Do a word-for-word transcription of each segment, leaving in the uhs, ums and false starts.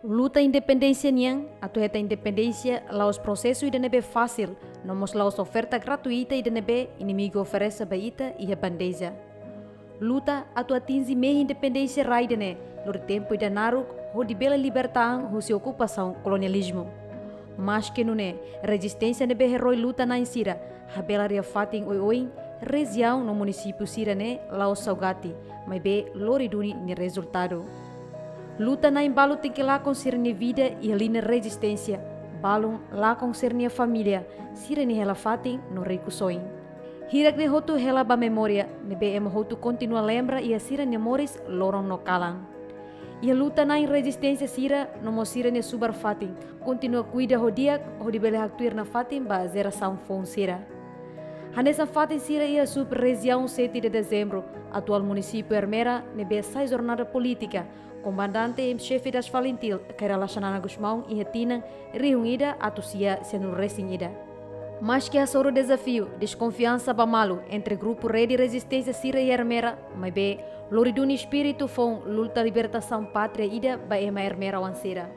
Luta independénsia nian, atu hetan independénsia la'ós prosesu ida ne'ebé fasil, no mós la'ós oferta gratuita ida ne'ebé inimigu oferese ba ita iha bandeja. Luta atu atinje mehi independénsia rai ida-ne'e, lori tempu ida naruk, hodi bele liberta an husi okupasaun kolonializmu. Maske nune'e, rezisténsia ne'ebé herói luta-na'in sira, habelar iha fatin oioin, rejiaun no munisípiu sira-ne'e la'ós saugati, maibé lori duni nia rezultadu. Luta-na'in balu tenke lakon sira-nia vida iha liña rezisténsia, balun lakon sira-nia família, sira-nia hela-fatin no rikusoin. Hirak ne'e hotu hela ba memória, ne'ebé ema hotu kontinua lembra iha sira-nia moris loron no kalan. Iha luta-na'in rezisténsia sira, no mós sira-nia subar-fatin, kontinua kuida ho di'ak, hodi bele haktuir nafatin ba jerasaun foun sira. Hanesan fatin sira iha sub-rejiaun sete de Dezembro, atuál munisípiu Ermera, ne'ebé sai jornada polítika, Comandante em Chefe das FALINTIL, Kay Rala Xanana Gusmão, iha tinan rihun ida atus sia sianulu-resin-ida. Maske hasoru dezafiu, deskonfiansa ba malu entre grupu Rede Rezisténsia sira iha Ermera, maibé lori duni espíritu foun luta libertasaun pátria ida ba ema Ermera-oan sira.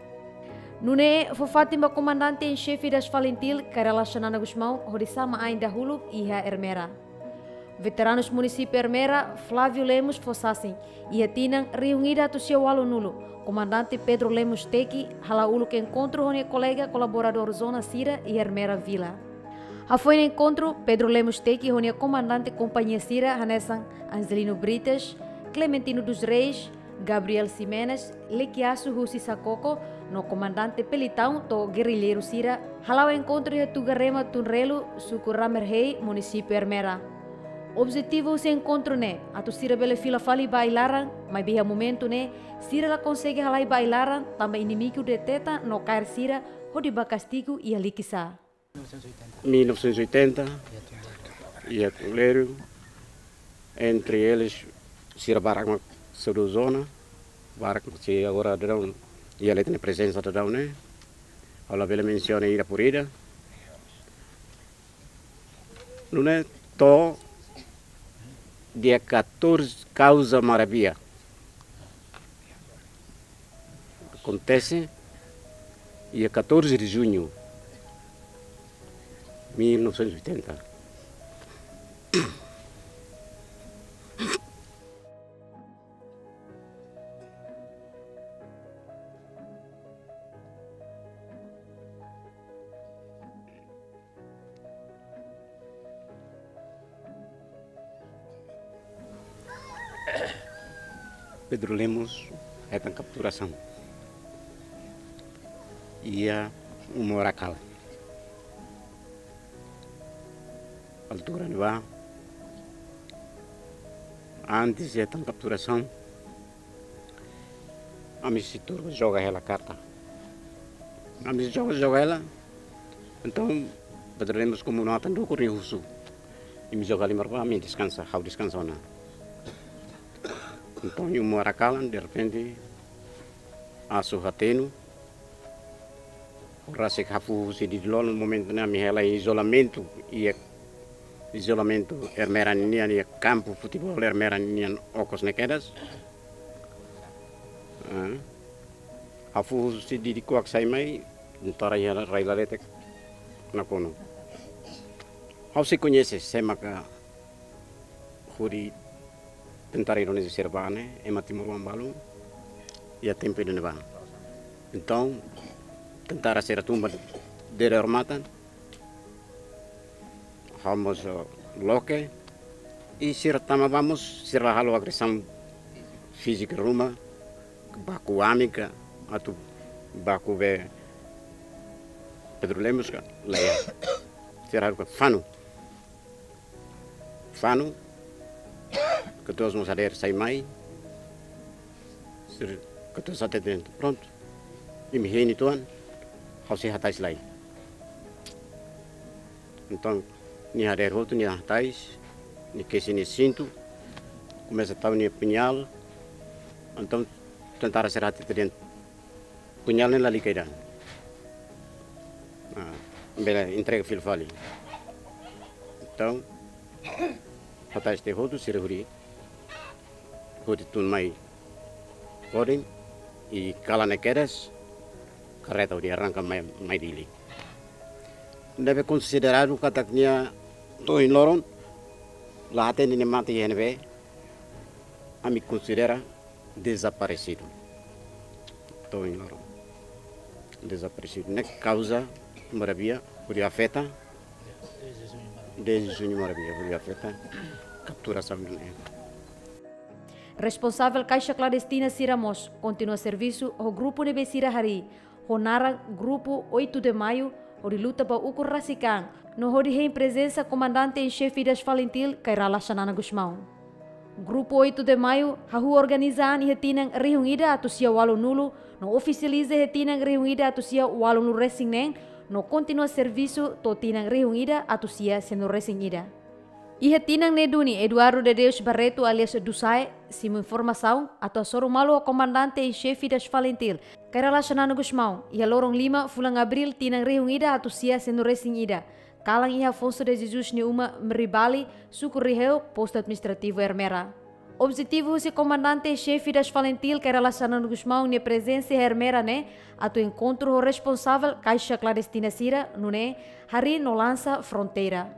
Nune'e fó fatin ba Comandante em Chefe das FALINTIL, Kay Rala Xanana Gusmão, hodi sama ain dahuluk iha Ermera. Veteranus munisípiu Ermera, Flávio Lemos fó sasin, iha tinan rihun ida atus sia ualunulu, Comandante Pedro Lemos Teki hala'o uluk enkontru ho nia kolega kolaboradór zona sira iha Ermera Vila. Hafoin enkontru, Pedro Lemos Teki ho nia komandante kompañia sira hanesan Angelino Brites, Clementino dos Reis, Gabriel Ximenes, Lekiasu husi Sakoko, no Komandante Pelitão to'o gerrilleiru sira, hala'o enkontru iha Tugarema Tunrelu, suku Ramerhei, munisípiu Ermera. Objetivu husi enkontru ne'e, atu sira bele fila fali ba ai-laran, maibé iha momentu ne'e, sira la konsege halai ba ai-laran, tanba inimigu deteta no kaer sira, hodi bá kastigu iha Likisá. Mil novecentos e oitenta, iha Tunrelu, entre eles, sira barak mak saiu zona, barak mak sei agora daudaun, iha leten prezensa daudaun ne'e, ha'u labele mensiona ida por ida. Nune'e to'o dia catorze, kauza Marabia. Akontese dia catorze de junho, mil novecentos e oitenta. Pedro Lemos hetan kapturasaun iha Umu Arakala. Altura ne'ebá, antes de hetan kapturasaun, ami sei tuur joga hela karta. Ami joga, joga hela. Entaun, Pedro Lemos komu no atan dukur nia husu. Imi joga halimar bá, ami deskansa, ha'u deskansa ona. Entaun, iha Umu Arakala, derrepente, asu hatenu. Rasik hafuhu husi didin-lolon, momentu ne'e ami hela iha izolamentu, iha izolamentu Ermera ninian, iha kampu futeból Ermera ninian okos ne'e kedas. Ah. Hafuhu husi didin-kuak sai mai, tentara iha rai laletek nakonu. Ha'u sei koñese sé maka hodi tentara Indonézia sira bá ne'e, ema timoroan balu, iha tempu ida-ne'ebá. Entaun, tentara sira tun ba dere odamatan, ha'u mós, eh, loke, i sira tama bá mós, sira la halo agresaun fízika ruma, baku ami ka, atu baku be Pedro Lemos ka, lae. Sira halo ka fanu. Fanu, katuas mós hadeer sai mai, sira katuas hatete de'it, prontu, imi hein uitoan, ha'u sei hatais lai. Entaun, nia hadeer hotu, nia hatais, nia kesi nia sintu, komesa tau nia puñál, entaun, tentara sira hatete de'it, puñál ne'e lalika ida. Ah, bele entrega fila fali. Entaun, hatais tiha hotu sira hodi, hodi tun mai. Hodi, i kalan ne'e kedas, karreta hodi arranka mai, mai Dili. Ne'ebé konsideradu katak nia to'o ohin loron la hatene nia mate iha ne'ebé, ami konsidera dezaparesidu. To'o ohin loron dezaparesidu. Ne'e kauza Marabia hodi afeta, desde Juñu Marabia hodi afeta kapturasaun ne'e. Responsavel kaixa klandestina sira mós kontinua servisu ho grupu ne'ebé sira harii, ho naran Grupu Oito de Maio, hodi luta ba ukun rasik an, no hodi hein prezensa Komandante em Xefe das FALINTIL, Kay Rala Xanana Gusmão. Grupu Oito de Maio hahú organiza an iha tinan rihun ida atus sia ualunulu, no ofisializa iha tinan rihun ida atus sia ualunulu resin neen, no kontinua servisu to'o tinan rihun ida atus sia sianulu resin ida. Iha tinan ne'e duni Eduardo de Deus Barreto alias Dusae simu informasaun atu hasoru malu ho Komandante em Xefe das FALINTIL, Kay Rala Xanana Gusmão, iha loron lima fulan Abríl tinan rihun ida atus sia sianulu resin ida, kalan iha Afonso de Jesus nia uma Mribali, suku Riheu, postu administrativu Ermera. Objetivu husi Komandante em Xefe das FALINTIL, Kay Rala Xanana Gusmão nia prezensa iha Ermera ne'e atu enkontru ho responsavel kaixa klandestina sira, nune'e harii no lansa fronteira.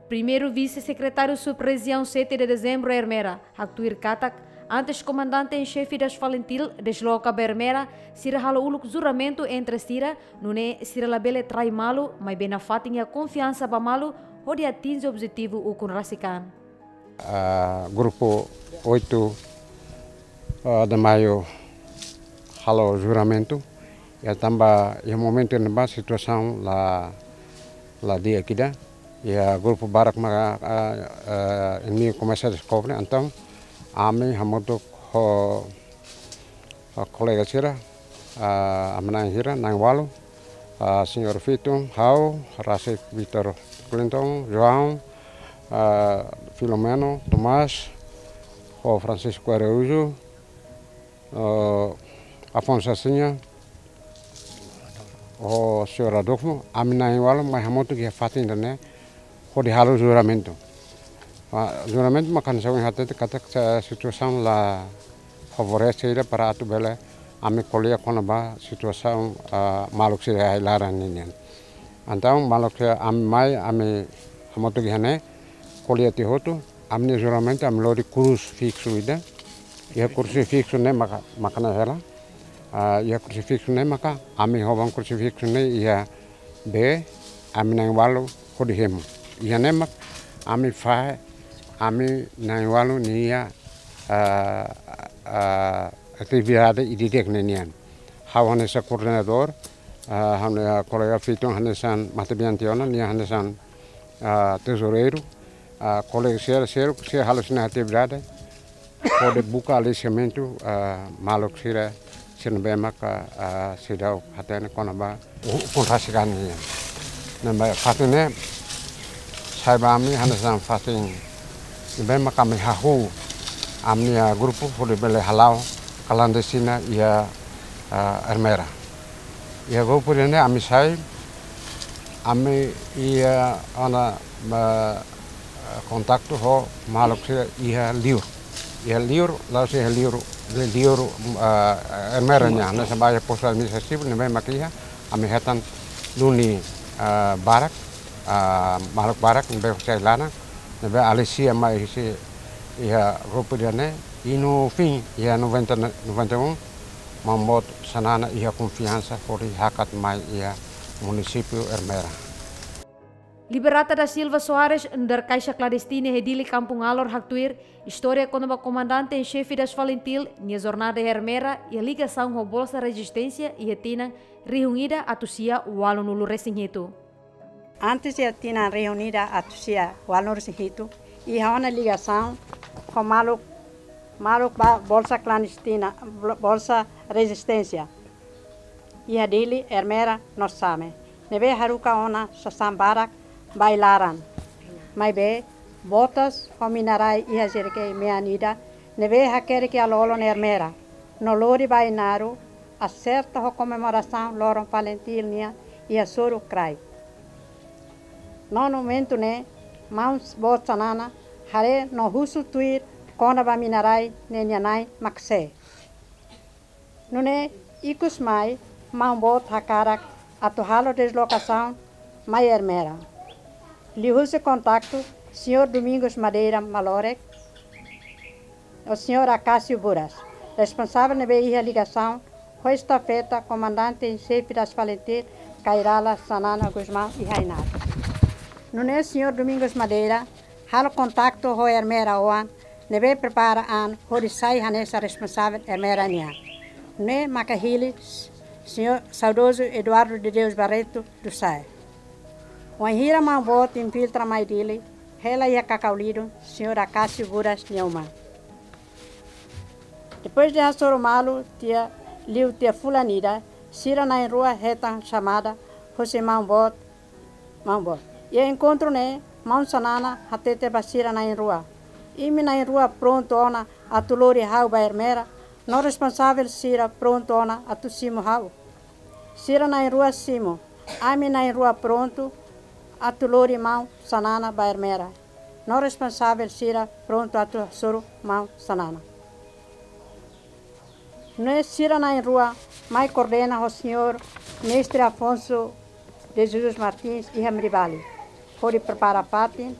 Primeiru Vise-Sekretáriu Sub-Rejiaun Sete de Dezembru Ermera haktuir katak, antes Komandante em Xefe das FALINTIL desloka ba Ermera, sira halo uluk juramentu entre sira, nune'e sira labele trai malu, maibé nafatin iha konfiansa ba malu hodi atinje objetivu ukun rasik an. Ah, Grupu Oito, ah, de Maio halo juramentu. Iha tanba, iha momentu ne'ebá situasaun la, la di'ak ida. Iha grupu barak maka, ah, ah, inimigu komesa deskobre. Entaun ami hamutuk ho, ho kolega sira, ah, ami na'in hira, na'in ualu, ah, Señór Fitun, ha'u, rasik Vítor Clinton, João, ah, Filomeno, Tomás, ho Francisco Araújo, ah, Afonso Asinha, ho Señór Adolfo, ami na'in ualu mai hamutuk iha fatin ida-ne'e hodi halo juramentu. Ah, juramentu maka hanesan ohin hatete katak, eh, situasaun la favorese ida para atu bele ami ko'alia kona-ba situasaun, ah, maluk sira iha ai-laran ninian. Entaun maluk sira ami mai, ami hamutuk iha ne'e, ko'alia tiha hotu, ami-nia juramentu, ami lori krusifiksu ida. Iha krusifiksu ne'e maka, maka ne'e hela. Ah, iha krusifiksu ne'e maka, ami hoban krusifiksu ne'e iha bee, ami na'in ualu hodi hemu. Iha ne'e mak, ami fahe, ami na'in ualu nia, ah, ah, atividade ida-idak ne'e nian. Ha'u hanesan koordenadór, ah, ha'u-nia kolega Fitun hanesan matebian tiha ona, nia hanesan, ah, tezoureiru, ah, kolega sira, sira, sira halo sira-nia atividade, hodi buka alisiamentu, ah, maluk sira, sira ne'ebé maka, ah, seidauk hatene kona-ba u-, ukun rasik an nian. Ne'ebé fatin ne'e, sai ba ami hanesan fatin ne'ebé maka ami hahú ami-nia grupu hodi bele hala'o klandestina iha, ah, Ermera. Iha grupu ida-ne'e ami sai, ami iha ona, ah, kontaktu ho maluk sira iha liur. Iha liur, la'ós iha liur, li-, liur, ah, Ermera nian, hanesan ba iha postu administrativu ne'ebé mak iha, ami hetan duni, ah, barak, ah, maluk barak ne'ebé sai laran, ne'ebé alisia mai husi iha grupu ida-ne'e, i no fin, iha noventa, noventa e um, Maun Boot Xanana iha konfiansa hodi hakat mai iha munisípiu Ermera. Liberata da Silva Soares, nu'udar kaixa klandestina iha Dili Kampung Alor haktuir, istória kona-ba Komandante em Xefe das FALINTIL nia jornada iha Ermera iha ligasaun ho Bolsa Rezisténsia iha tinan rihun ida atus sia ualunulu resin hitu. Antes iha tinan rihun ida atus sia ualunulu resin hitu, iha ona ligasaun ho maluk, maluk ba bolsa klandestina, bol-, Bolsa Rezisténsia. Iha Dili, Ermera no Same. Ne'ebé haruka ona sasán barak ba ai-laran. Maibé, botas ho mina-rai iha jerikei mean ida, ne'ebé hakerek iha lolon Ermera. No lori ba Ainaro, aserta ho komemorasaun loron FALINTIL nian iha Soru Krai. No momentu ne'e, Maun Boot Xanana haree no husu tuir kona-ba mina-rai ne'e nia na'in mak sé. Nune'e ikus mai, Maun Boot hakarak atu halo deslokasaun mai Ermera. Liuhusi kontaktu señór Domingos Madeira Malorek, ho señór Acácio Buras, responsavel ne'ebé iha ligasaun ho estafeta Comandante em Chefe das FALINTIL, Kay Rala Xanana Gusmão iha Ainaro. Nune'e señór Domingos Madeira halo kontaktu ho Ermera oan ne'ebé prepara an hodi sai hanesan responsavel Ermera nian. Nune'e maka hili señór saudozu Eduardo de Deus Barreto do Sae. Wainhira Maun Boot infiltra mai Dili, hela iha Cacaulido, señór Acácio Buras nia uma. Depois de hasoru malu tiha, liu tiha fulan ida, sira na'in-rua hetan xamada husi Maun Boot, Maun Boot. Iha enkontru ne'e, Maun Xanana hatete ba sira na'in-rua: Imi na'in-rua prontu ona atu lori ha'u ba Ermera, no responsavel sira prontu ona atu simu ha'u? Sira na'in-rua simu: Ami na'in-rua prontu atu lori Maun Xanana ba Ermera, no responsavel sira prontu atu hasoru Maun Xanana. Nune'e sira na'in-rua mai koordena ho señór Mestre Afonso de Jesus Martins iha Mribali, hodi prepara fatin,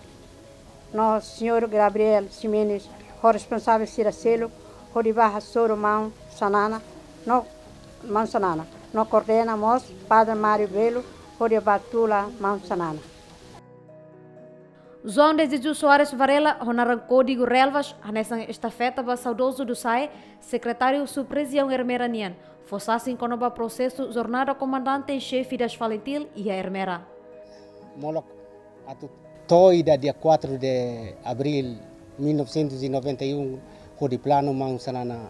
no señór Gabriel Ximenes ho responsavel sira seluk hodi bá hasoru Maun Xanana, no Maun Xanana, no koordena mós Padre Mário Belo hodi bá tula Maun Xanana. João de Jesus Soares Varela, ho naran kódigu Relvas, hanesan estafeta ba saudozu Dusae, sekretáriu sub-rejiaun Ermera nian, fó sasin kona-ba prosesu jornada Comandante em Chefe das FALINTIL iha Ermera. Molok atu to'o ida dia quatro de abril mil novecentos e noventa e um, hodi planu Maun Xanana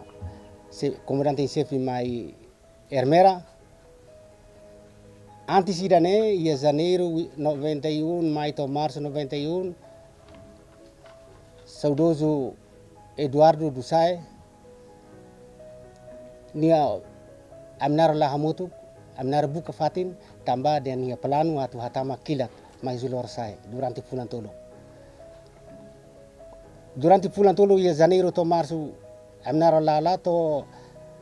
se-, Comandante em Chefe mai Ermera. Antes ida-ne'e, iha Janeiru noventa e um, mai to'o Marsu noventa e um, saudozu Eduardo Dusae, nia, ami na'in-rua la hamutuk, ami na'in-rua buka fatin, tanba dehan nia planu atu hatama kilat mai husi Lorosa'e sae durante fulan tolu. Durante fulan tolu, iha Janeiru to'o Marsu, ami na'in-rua la'o la, to'o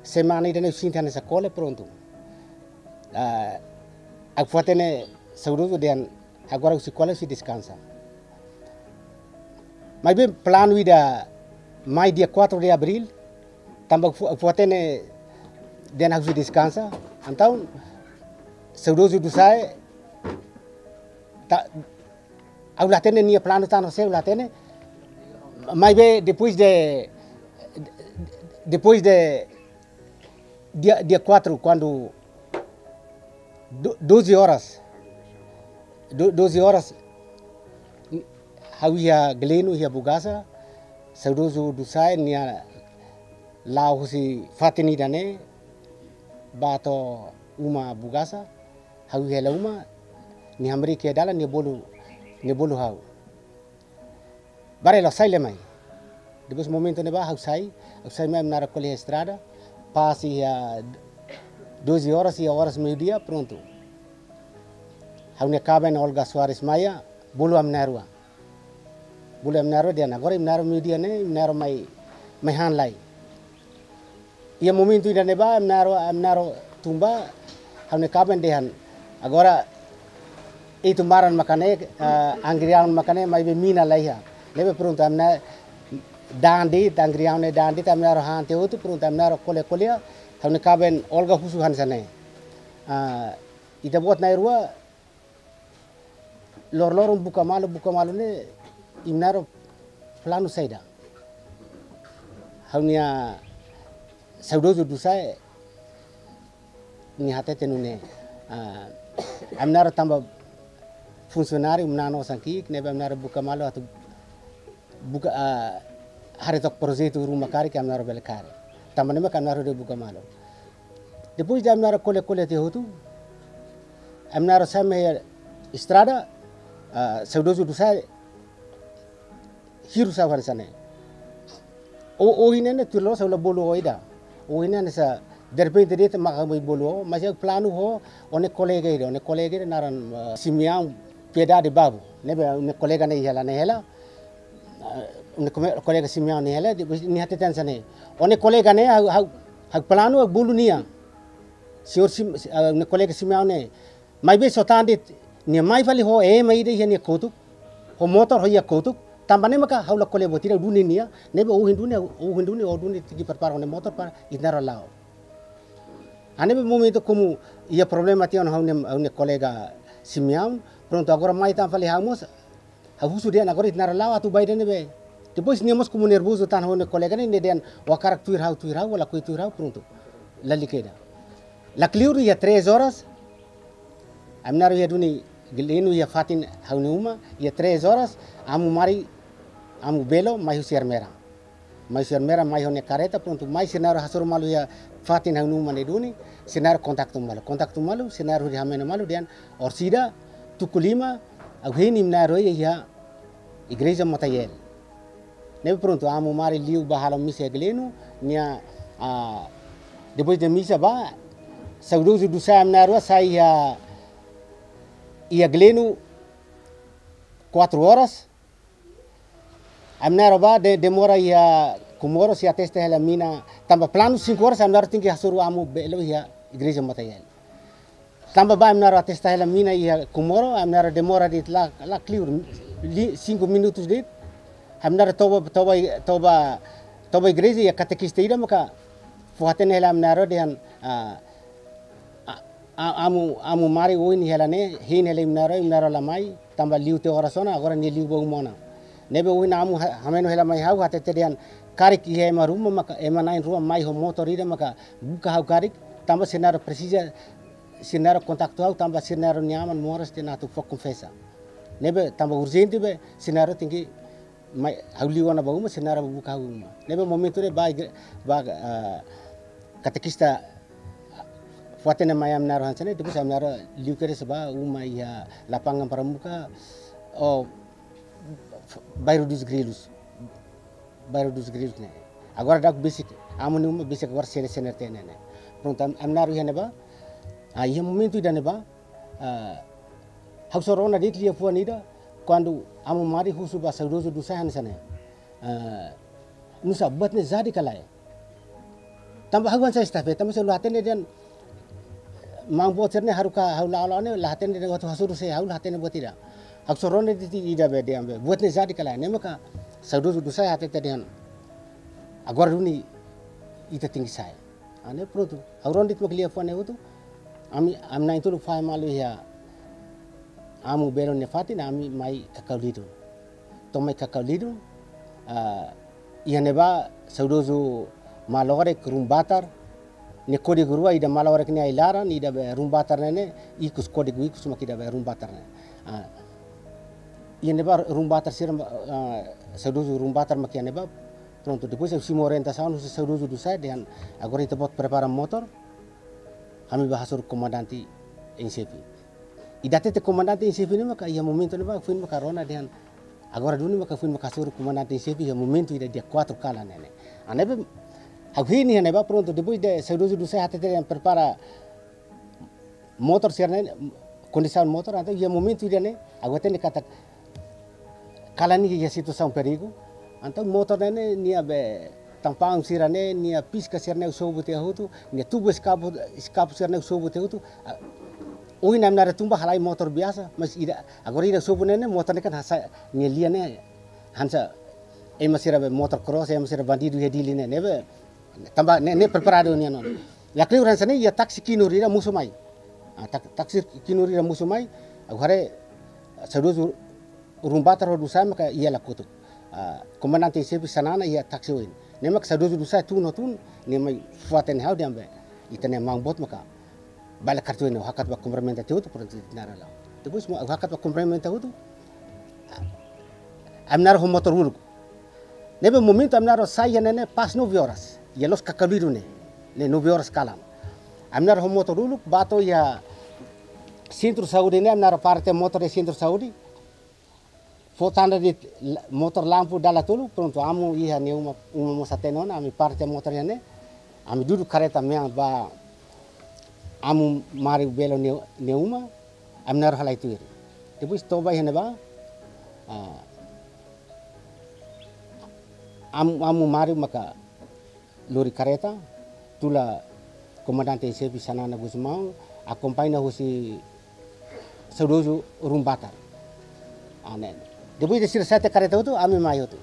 semana ida-ne'e sente hanesan kole, prontu. Ah, ha'u fó-hatene saudozu dehan agora husi kole, husi deskansa. Maibé planu ida mai dia quatro de abril, tanba fó-, fó-hatene dehan husi deskansa. Entaun, saudozu Dusae, ta-, ha'u la hatene nia planu tan, ha'u la hatene. Maibé depois de, depois de dia, dia quatro, kuandu do-, doze horas, do-, doze horas, ha'u iha Gleno, iha Bugaza, saudozu Dusae nia la'o husi fatin ida-ne'e, bá to'o uma Bugaza, ha'u iha hela uma, nia hamriik iha dalan, nia bolu, nia bolu ha'u: Varela, sai lai mai. Depois momentu ne'ebá ha'u sai, ha'u sai mai, ami na'in-rua ko'alia iha estrada, pas iha doze horas, iha oras meiudia, prontu. Ha'u-nia kaben Olga Soares Maia bolu ami na'in-rua. Bolu ami na'in-rua dehan agora imi na'in-rua meiudia ne'e, imi na'in-rua mai, mai han lai. Iha momentu ida-ne'ebá, ami na'in-rua, ami na'in-rua tun ba, ha'u-nia kaben dehan: Agora, ita-nia maran maka ne'e, ah, angriaun maka ne'e, maibé mina la iha. Ne'ebé prontu, ami na'in-rua da'an de'it, angriaun ne'e da'an de'it, ami na'in-rua han tiha hotu, prontu, ami na'in-rua ko'alia-ko'alia, ha'u-nia kaben Olga husu hanesan ne'e: Ah, ita-boot na'in-rua, loroloron buka malu, buka malu ne'e, imi na'in-rua planu saida? Ha'u-nia saudozu Dusae, nia hatete nune'e: Ah, ami na'in-rua tanba funsionáriu, manán osan ki'ik, ne'ebé ami na'in-rua buka malu atu buka, ah, haree took projetu ruma karik ke ami na'in-rua bele kaer. Tanba ne'e mak ami na'in-rua de'it buka malu. Depois de ami na'in-rua ko'alia-ko'alia tiha hotu, ami na'in-rua sai mai estrada, ah, saudozu Dusae hirus ha'u hanesan ne'e: Ó, ó, ohin ne'e tuir loloos ha'u la bolu ó ida. Ó, ohin ne'e hanesan derrepente de'it mak ha'u mai bolu ó, mas ha'u planu ho ó-nia kolega ida, ó-nia kolega ida naran, ah, Simeão Piedade Babu. Ne'ebé ó-nia kolega ne'e hela, ne'e hela. Ah, ó-nia kome-, kolega Simeão ne'e hela, depois nia hatete hanesan ne'e: Ó-nia kolega ne'e, ha'u, ha'u, ha'u planu, ha'u bolu nia. Señór Sim-, ah, ne'e kolega Simeão ne'e, maibé só tan de'it, nia mai fali ho ema ida iha nia kotuk, ho motór ho iha kotuk, tanba ne'e maka ha'u la ko'alia buat ida duni nia, ne'ebé ohin duni, ohin duni, ohin duni tenke prepara nia motór para ita na'in-rua la'o. Ah, ne'ebé momentu komu iha problema tiha ona ho nia, ho nia kolega Simeão, prontu agora mai tan fali ha'u mós, ha'u husu dehan agora ita na'in-rua la'o atu bá ida ne'ebé. Depois nia mós komu nervozu tan ho nia kolega ne'e, nia dehan ó hakarak tuir ha'u, tuir ha'u, ó lakohi tuir ha'u, prontu. Lalika ida. La kleur iha três horas, ami na'in-rua iha duni Gleno iha fatin ha'u-nia uma, iha três horas, Amu Mari, Amu Belo, mai husi Ermera. Mai husi Ermera, mai ho nia kareta, prontu, mai sira na'in-rua hasoru malu iha fatin ha'u-nia uma ne'e duni, sira na'in-rua kontaktu malu. Kontaktu malu, sira na'in-rua hodi hameno malu, dehan orsida, tuku lima, ha'u hein imi na'in-rua iha igreja Motayel. Ne'ebé prontu, Amu Mari liu bá halo misa iha Gleno, nia, ah, depois de misa bá, saudozu Dusá, ami na'in-rua sai iha, iha Gleno, quatro horas, ami na'in-rua bá de-, demora iha Comoro, sei atesta hela mina, tanba planu cinco horas, ami na'in-rua tenke hasoru Amu Belo iha igreja Motayel. Tanba bá ami na'in-rua atesta hela mina iha Comoro, ami na'in-rua demora de'it la, la kleur, li-, cinco minutos de'it. Ami na'in-rua toba, toba, toba, toba igreja iha katekista ida maka fó-hatene hela ami na'in-rua dehan, ah, ah, ah, Amu, Amu Mari ohin hela ne'e, hein hela imi na'in-rua, imi na'in-rua la mai, tanba liu tiha oras ona, agora nia liu bá uma ona. Ne'ebé ohin Amu ha-, hameno hela mai ha'u, hatete dehan karik iha ema ruma maka, ema na'in-rua mai ho motór ida maka buka ha'u karik, tanba sira na'in-rua presiza, sira na'in-rua kontaktu ha'u, tanba sira na'in-rua nia aman moras tiha ona atu fó konfesa. Ne'ebé tanba urjente be, sira na'in-rua tenke mai, ha'u liu ona bá uma, sira na'in-rua buka ha'u uma. Ne'ebé momentu ne'e bá igre-, bá, ah, katekista fó-hatene mai ami na'in-rua hanesan ne'e, depois ami na'in-rua liu kedas bá uma iha Lapangan Pramuka, oh, Bairro dos Grilos. Bairro dos Grilos ne'e. Agora daudaun besik, Amu nia uma besik agora sene-sene tiha ne'e. Prontu, am-, ami na'in-rua iha ne'ebá. Ah, iha momentu ida ne'ebá, ah, ha'u só rona de'it liafuan ida, kuandu Amu Mari husu ba saudozu Dusá hanesan ne'e. Ah, nusá, buat ne'e jadi ka lae? Tanba ha'u hanesan estafeta, tanba sira la hatene dehan maun boot sira ne'e haruka ha'u la'o la'o ne'e, la hatene dehan atu hasoru sé, ha'u la hatene buat ida. Ha'u só rona de'it ida be dehan be, buat ne'e jadi ka lae? Ne'e maka saudozu Dusá hatete dehan agora duni ita tenke sai. Ah, ne'e prontu. Ha'u rona de'it mak liafuan ne'e hotu. Ami, ami na'in-tolu fahe malu iha Amu Belo nia fatin, ami mai Kakaulidun. To'o mai Kakaulidun, ah, iha ne'ebá saudozu Malorek Rumbatar, nia kódigu rua, ida Malorek ne'e ai-laran, ida be Rumbatar ne'e ne'e ikus, kódigu ikus mak ida be Rumbatar ne'e. Ah, iha ne'ebá Rumbatar sira, ah, saudozu Rumbatar mak iha ne'ebá, prontu, depois ha'u simu orientasaun husi saudozu Dusá dehan agora ita-boot prepara motór, ami bá hasoru komandante em xefe. Ida hatete komandante em xefe ne'e maka iha momentu ne'ebá foin maka rona dehan agora duni maka foin maka hasoru komandante em xefe iha momentu ida dia quatro kalan ne'e ne'e. Ah, ne'ebé ha'u hein iha ne'ebá prontu, depois de saudozu Dusá hatete dehan prepara motór sira ne'e, kondisaun motór, entaun iha momentu ida ne'e, ha'u hatene katak kalan ne'e iha situasaun perigu. Entaun motór ne'e ne'e, nia be tampang sira ne'e, nia piska sira ne'e ha'u sobu tiha hotu, nia tubu eskapu, eskapu sira ne'e ha'u sobu tiha hotu. Ah, ohin ami na'in-rua tun bá halai motór biasa, mas ida, agora ida sobu ne'e ne'e, motór ne'e kan hanesan, nia lian ne'e hanesan ema sira be motór cross, ema sira bandidu iha Dili ne'e, ne'ebé tanba ne'e, ne'e preparadu nian ona. La kleur hanesan ne'e, iha taksi kinur ida mosu mai. Ah, tak-, taksi kinur ida mosu mai, ha'u haree saudozu Rumbatar ho Dusá maka iha la kotuk. Ah, komandante em xefe Xanana iha taksi oin. Ne'e mak saudozu Dusá tun ho tun, nia mai fó-hatene ha'u dehan be, ita-nia maun boot maka bá hela kartu ne'e, ha'u hakat bá kumprimenta tiha hotu, prontu, ita na'in-rua la'o. Depois ha'u hakat bá kumprimenta hotu, ami na'in-rua ho motór uluk. Ne'ebé momentu ami na'in-rua sai iha ne'e ne'e pas nove horas. Iha loos Kakaulidun ne'e. Ne'e nove horas kalan. Ami na'in-rua ho motór uluk, bá to'o iha sentru saúde ne'e, ami na'in-rua para tiha motór iha sentru saúde. Fó tanda de'it la-, motór lampu dala tolu, prontu, Amu iha nia uma, uma mós hatene ona, ami para tiha motór iha ne'e, ami dudu kareta mean ba Amu Mari Belo nia, nia uma, ami na'in-rua halai tuir. Depois toba iha ne'ebá, ah, Amu, Amu Mari maka lori kareta, tula Komandante em Xefe Xanana Gusmão, akompaña husi saudozu Rumbatar. Ah, ne'e. Depois de sira sa'e tiha karreta hotu, ami mai hotu.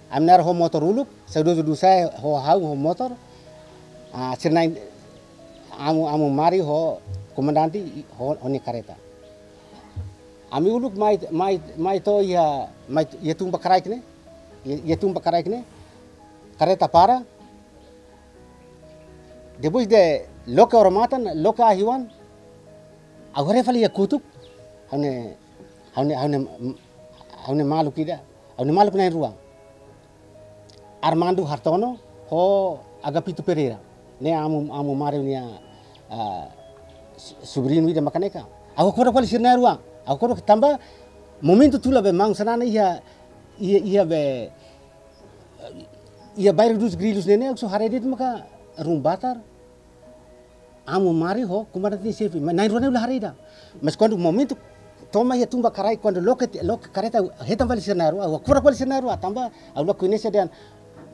Ami na'in ho motór uluk, saudozu Dusá ho ha'u ho motór. Ah, sira na'in, amu, amu Mari ho komandante i-, ho, ho nia karreta. Ami uluk mai, mai, mai to'o iha, mai iha tun ba kraik ne'e. Iha, iha tun ba kraik ne'e. Karreta para. Depois de loke odamatan, loke ahi-oan, ha'u haree fali iha kotuk, ha'u-nia, ha'u-nia, ha'u-nia, ha'u-nia maluk ida, ha'u-nia maluk na'in-rua. Armando Hartono ho Agapito Pereira. Ne'e amu, amu Mari nia, ah, su-, subriñu ida mak ne'e ka. Ha'u hakfodak fali sira na'in-rua. Ha'u hakfodak tanba momentu tula be maun Xanana iha, iha, iha be, iha Bairro dos Grillos ne'e ne'e, ha'u só haree de'it maka Rumbatar, amu Mari ho komandante em Xefe, mas na'in-rua ne'e la haree ida. Mas kuandu momentu tama iha tun ba kraik, kuandu loke, loke karreta, hetan fali sira na'in-rua, ha'u hakfodak fali sira na'in-rua, tanba ha'u la koñese dehan.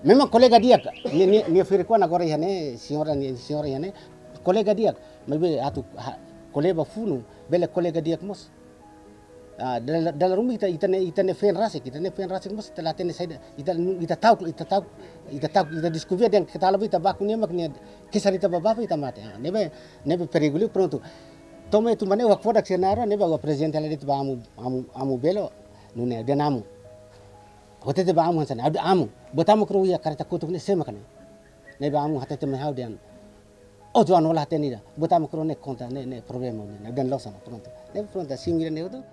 Memang kolega di'ak, nia, nia, nia firi kuan agora iha ne'e, señora, nia, señora iha ne'e, kolega di'ak, maibé atu, ha, ko'alia ba funu, bele kolega di'ak mós. Ah, dala, dala ruma ita, ita-nia, ita-nia feen rasik, ita-nia feen rasik mós ita la hatene saida, ita, ita ta'uk, ita ta'uk, ita ta'uk, ita diskubia dehan keta la ba ita baku nia mak nia kesar ita ba baku ita mate. Ah, ne'ebé, ne'ebé perigu liu prontu. Tama iha tun ba ne'e ha'u hakfodak sira na'in-rua, ne'ebé ha'u aprezenta lai de'it ba amu, amu, amu Belo, nune'e dehan amu. Ha'u hatete ba amu hanesan ne'e, amu, buat ida mak rua iha karreta kotuk ne'e sé mak ne'e. Ne'ebé amu hatete mai ha'u dehan. Oh, João, la hatene ida. Buat ida mak rua ne'e konta, ne'e, ne'e problema, ne'e, ne'e dehan loos ona, prontu. Ne'e prontu, simu ida ne'e hotu.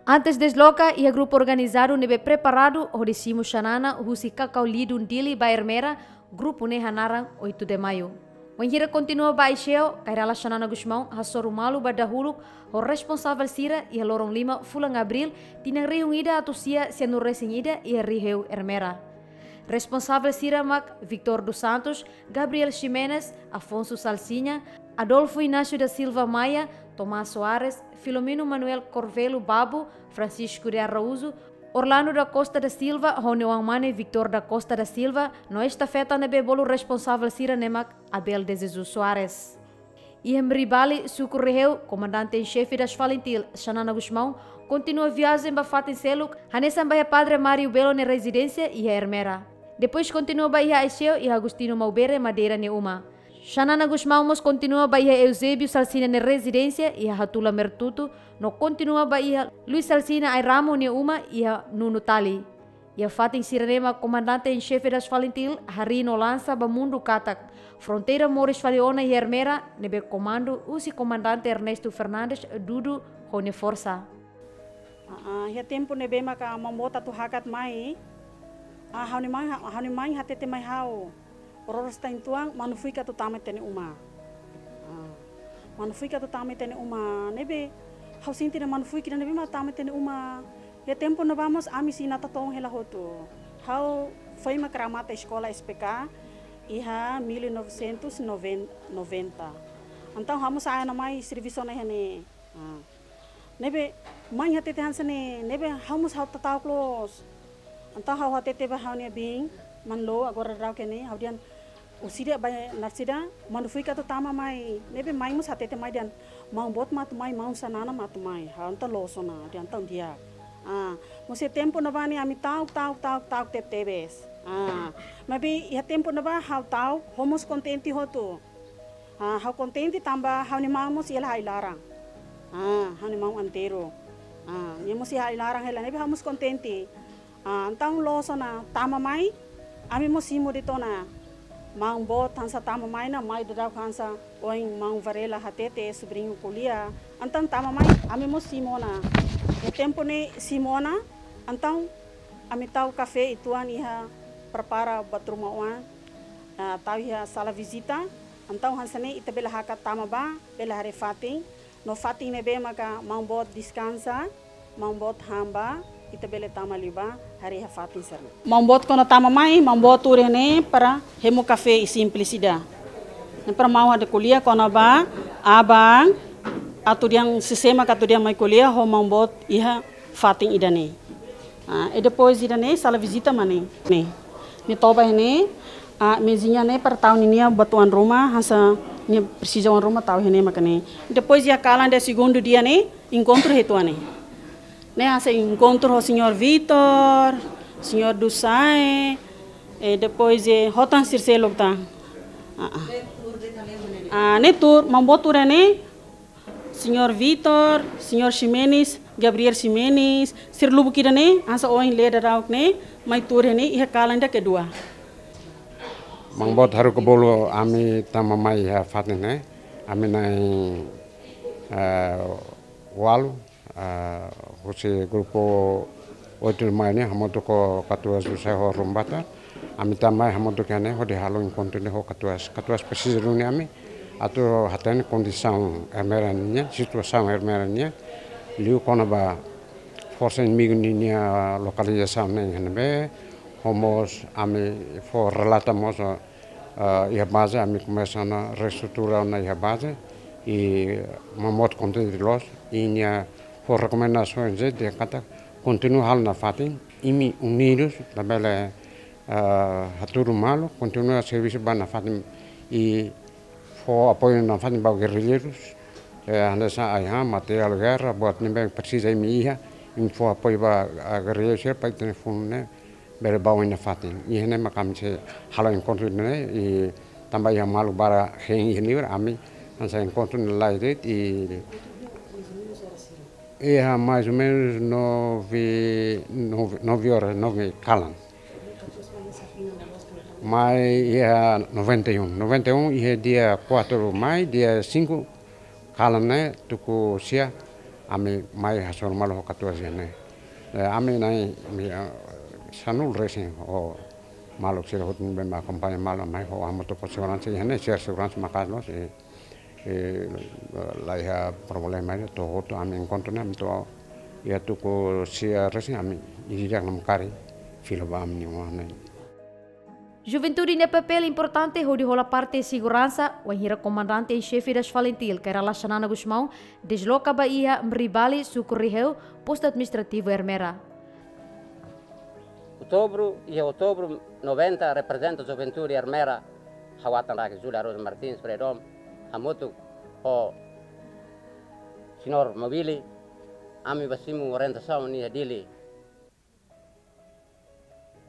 Antes desloka, iha grupu organizadu ne'ebé preparadu hodi simu Xanana husi Cacau Lidun Dili ba Ermera, grupu ne'e hanaran Oito de Maio. Wainhira kontinua ba Aiseu, Kay Rala Xanana Gusmão hasoru malu ba dahuluk ho responsavel sira iha loron lima fulan Abríl, tinan rihun ida atus sia sianulu-resin-ida iha Riheu, Ermera. Responsavel sira mak Victor dos Santos, Gabriel Ximenes, Afonso Salsinha, Adolfo Inácio da Silva Maia, Tomás Soares, Filomeno Manuel Corvelo Babo, Francisco de Araújo, Orlando da Costa da Silva ho nia oan-mane Victor da Costa da Silva, no estafeta ne'ebé bolu responsavel sira ne'e mak Abel de Jesus Soares. Iha Mribali, suku Riheu, Comandante em Chefe das FALINTIL, Xanana Gusmão, kontinua viajen ba fatin seluk, hanesan ba iha Padre Mário Belo nia rezidénsia iha Ermera. Depois kontinua ba iha Aiseu, iha Agostinho Maubere Madeira nia uma. Xanana Gusmão mós kontinua ba iha Eusébio Salsinha nia rezidénsia iha Hatula Mertutu, no kontinua ba iha Luis Salsinha Airamo nia uma iha Nunutali. Iha fatin sira-ne'e mak Comandante em Chefe das FALINTIL harii no lansa ba mundu katak fronteira moris fali ona iha Ermera ne'ebé komandu husi Comandante Ernesto Fernandes Dudu ho nia forsa. Ah, ah, iha tempu ne'ebé maka maun boot atu hakat mai, ah, ha'u-nia mãe, ha'u-nia mãe hatete mai ha'u, Roro Stain Tuan, Manu Fuik atu tama ita-nia uma. Ah, Manu Fuik atu tama ita-nia uma, ne'ebé ha'u sente dehan Manu Fuik ida ne'ebé mak tama ita-nia uma. Iha tempu ne'ebá mós ami sei natoon hela hotu. Ha'u foin mak remata eskola S P K iha mil novecentos e noventa. Entaun ha'u mós sa'e ona mai servisu ona iha ne'e. Ah. Ne'ebé mãe hatete hanesan ne'e, ne'ebé ha'u mós ha'u ta'uk loos. Entaun ha'u hatete ba ha'u-nia biin, Manlo, agora daudaun ne'e, ha'u dehan, orsida ba narsida, Manu Fuik atu tama mai. Ne'ebé mãe mós hatete mai dehan, maun boot mak atu mai, maun Xanana mak atu mai. Ha'u entaun loos ona, dehan entaun di'ak. Ah, mós iha tempu ne'ebá ne'e ami ta'uk, ta'uk, ta'uk, ta'uk tebetebes. Ah, maibé iha tempu ne'ebá ha'u ta'uk, ha'u mós kontente hotu. Ah, ha'u kontente tanba ha'u-nia maun mós iha ha'u-nia laran. Ah, ha'u-nia maun Antero. Ah, nia mós iha ha'u-nia laran hela, ne'ebé ha'u mós kontente. Ah, entaun loos ona tama mai, ami mós simu de'it ona. Maun boot hanesan tama mai ona, mai daudaun hanesan ohin maun Varela hatete, subriñu ko'alia. Entaun tama mai, ami mós simu ona. Iha tempu ne'e simu ona, entaun ami tau kafé uitoan iha prepara buat ruma oan. Ah, tau iha sala vizita, entaun hanesan ne'e ita bele hakat tama ba, bele haree fatin, no fatin ne'ebé maka maun boot deskansa, maun boot han ba, ita bele tama liubá, haree iha fatin sira-ne'e. Maun boot kuandu tama mai, maun boot tuur iha ne'e para hemu kafé i simples ida. Ne'e para maun hodi ko'alia kona-ba aban, atu dehan sé-sé mak atu dehan mai ko'alia ho maun boot iha fatin ida-ne'e. Ah, i depois ida-ne'e, sala vizita mak ne'e. Ne'e. Nia toba iha ne'e, ah, mezinha ne'e para tau ninia buat oan ruma, hanesan nia presiza oan ruma tau iha ne'e maka ne'e. Depois iha kalan ida segundu dia ne'e, enkontru hetan ne'e. Ne'e hanesan enkontru ho señór Vitor, señór Dusae, eh, depois, eh, ho tan sira seluk tan. Ah, ah. Ah, ne'e tuur, maun boot tuur ne'e, señór Vitor, señór Ximenes, Gabriel Ximenes, sira lubuk ida ne'e, hanesan ohin lee daudauk ne'e, mai tuur ne'e, iha kalan ida kedua. Maun boot haruka bolu ami tama mai iha fatin ne'e, ami na'in, eh, ualu, eh, husi grupu oito de Maio ne'e, hamutuk ho katuas José ho Rumbata. Ami tama mai hamutuk iha ne'e hodi halo enkontru ne'e ho katuas. Katuas presiza duni ami atu hatene kondisaun Ermera nian, situasaun Ermera nian, liu kona-ba forsa inimigu ninia lokalizasaun ne'e iha ne'ebé, no mós ami fó relata mós, eh, iha baze, ami komesa ona reestrutura ona iha baze, i maun boot kontente loos, i nia fó rekomendasaun dehan katak kontinua halo nafatin, imi unidus, labele, eh, hatudu malu, kontinua servisu ba nafatin, i fó apoiu nafatin ba gerrilleirus, eh, hanesan ai-han, materiál gerra, buat ne'ebé presiza imi iha, imi fó apoiu ba, ah, gerrilleirus sira para ita-nia funu ne'e bele ba oin nafatin. Iha ne'e maka ami sei halo enkontru ne'e, i tanba iha maluk barak hein iha ne'ebá, ami hanesan enkontru ne'e laiha de'it, i iha mais ou menos nove, nove, nove horas, nove kalan. Mai iha noventa e um. Noventa e um iha dia quatro Maio, dia cinco kalan ne'e, tuku sia, ami mai hasoru malu ho katuas iha ne'e. Eh, ami na'in, ami, eh, sanulu resin ho maluk sira hotu ne'ebé mak akompaña malu mai ho hamutuk ho seguransa iha ne'e, sira seguransa maka'as loos, eh, eh, laiha problema ida, to'o hotu ami enkontru ne'e, ami to'o iha tuku sia resin ami ida-idak namkari fila ba ami-nia oan ne'e. Juventude nia papél importante hodi hola parte seguransa, wainhira Komandante em Xefe das FALINTIL, Kay Rala Xanana Gusmão, desloka ba iha Mribali, suku Riheu, postu administrativu Ermera. Outubru, iha outubru noventa, reprezenta juventude Ermera, ha'u-atan rasik Julia Rosa Martins, Freedom, hamutuk ho señór Mobili, ami ba simu orientasaun iha Dili.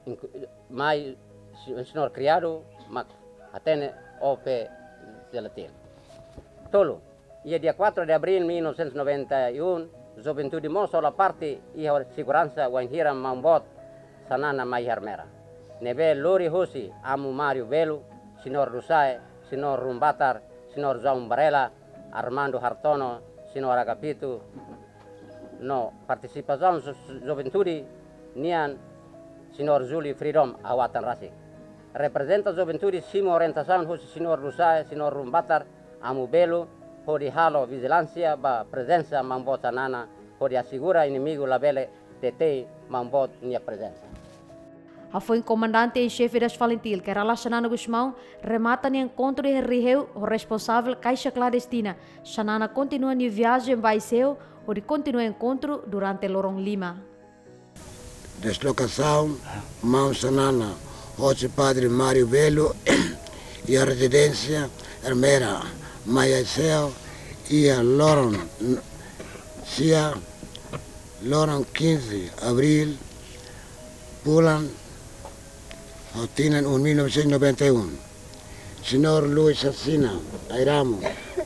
Inku-, mai si-, señór Criado mak hatene O P Zelatil. Tolu, iha dia quatro de abril mil novecentos e noventa e um, juventude mós hola parte iha seguransa wainhira maun boot Xanana mai iha Ermera. Ne'ebé lori husi Amu Mário Belo, señór Dusae, señór Rumbatar, señór João Varela, Armando Hartono, señór Agapito, no partisipasaun ju-, juventude nian señór Júlio Freedom, ha'u-atan rasik. Reprezenta juventude simu orientasaun husi señór Dusae, señór Rumbatar, Amu Belo, hodi halo vijilánsia ba prezensa maun boot Xanana, hodi asegura inimigu labele detei maun boot nia prezensa. Hafoin Komandante em Xefe das FALINTIL, Kay Rala Xanana Gusmão, remata nia enkontru iha Riheu ho responsavel kaixa klandestina, Xanana kontinua nia viajen ba Aiseu, hodi kontinua enkontru durante loron lima. Deslokasaun maun Xanana hosi Padre Mário Belo iha rezidénsia Ermera mai Aiseu iha loron n-, sia, loron quinze abril, fulan ho tinan un mil novecentos e noventa e um. Señór Luis Xanana Airamo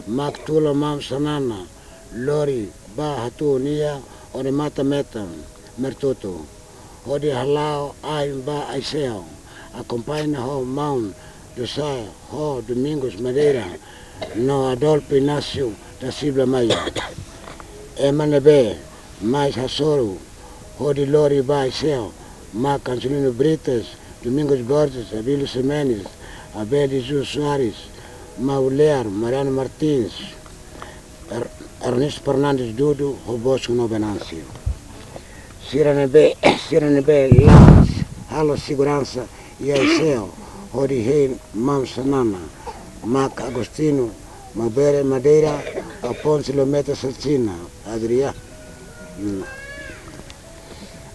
mak tula maun Xanana lori ba hatuun iha Odemata Metan, Mertoto, hodi hala'o ain ba Aiseu, akompaña ho maun Dusae ho Domingos Madeira no Adolfo Inácio da Silva Maia. Ema ne'ebé mais hasoru hodi lori ba Aiseu mak Angelino Brites, Domingos Borges, Abílio Ximenes, Abel de Jesus Soares, Maulear, Mariano Martins, Er-, Ernesto Fernandes Dudu, ho Bosco no Venâncio. Sira ne'ebé, sira ne'ebé la halo seguransa iha Aiseu hodi hein maun Xanana mak Agostinho Maubere Madeira, Afonso Lemeta Xanana, Adriano,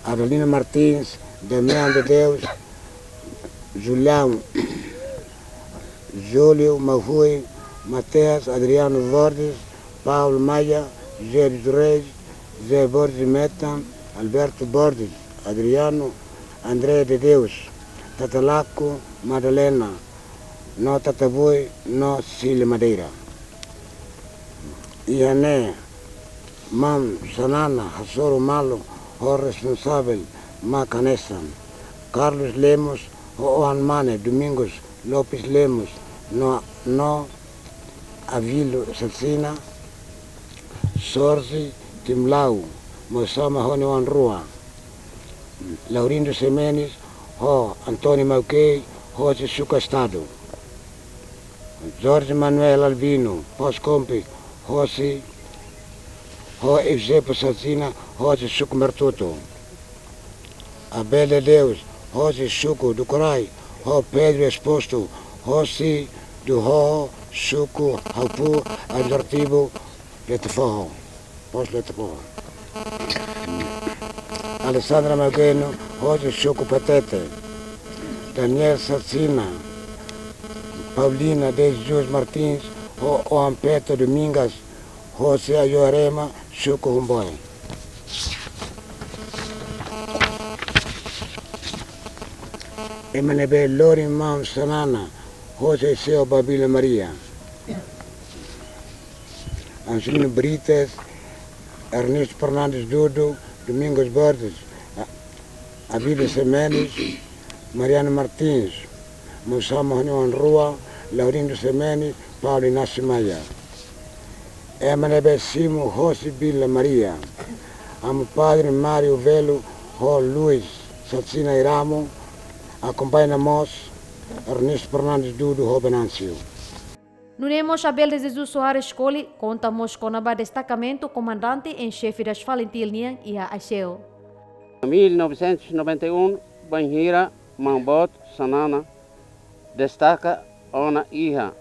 Adelino Martins, Damião de Deus, Julião, Júlio Mahui, Mateus Adriano Borges, Paulo Maia, José dos Reis, José Borges Meta, Alberto Borges, Adriano, André de Deus, Tatalaco, Madalena, no Tatabui, no Cília Madeira. Iha ne'e, maun Xanana hasoru malu ho responsavel mak hanesan: Carlos Lemos ho oan mane Domingos Lopes Lemos no, no Avilio Xaxina, Sorzi Timlau, Mosama ho nia oan rua, Laurindo Ximenes ho António Maukei, hosi suku Estadu. Jorge Manuel Albino Poskompi, hosi, ho Eusébio Xaxina, hosi suku Mertutu. Abel de Deus, hosi suku Dukurai, ho Pedro Exposto, hosi Duhoho, suku Haupu, administrativu Letefoho. Postu Letefoho. Alessandra Maukei, hosi suku Patete. Daniel Xaxina, Paulina de Jesus Martins, ho oan Peto Domingas, hosi Ayoarema, suku Humboe. Ema ne'ebé lori maun Xanana, hosi Aiseu ba Vila Maria. Angelino Brites, Ernesto Fernandes Dudu, Domingos Borges, A-, Abílio Ximenes, Mariano Martins, Mosama ho nia oan rua, Laurindo Ximenes, Paulo Inácio Maia. Ema ne'ebé simu hosi Vila Maria. Amu Padre Mário Velo ho Luis Xaxina Iramo, akompaña mós Ernesto Fernandes Dudu ho Venâncio. Nune'e mós Abel de Jesus Soares Colli konta mós kona-ba destakamentu Komandante em Chefe das FALINTIL nian iha Aiseu. Mil novecentos e noventa e um, bainhira maun boot Xanana destaka ona iha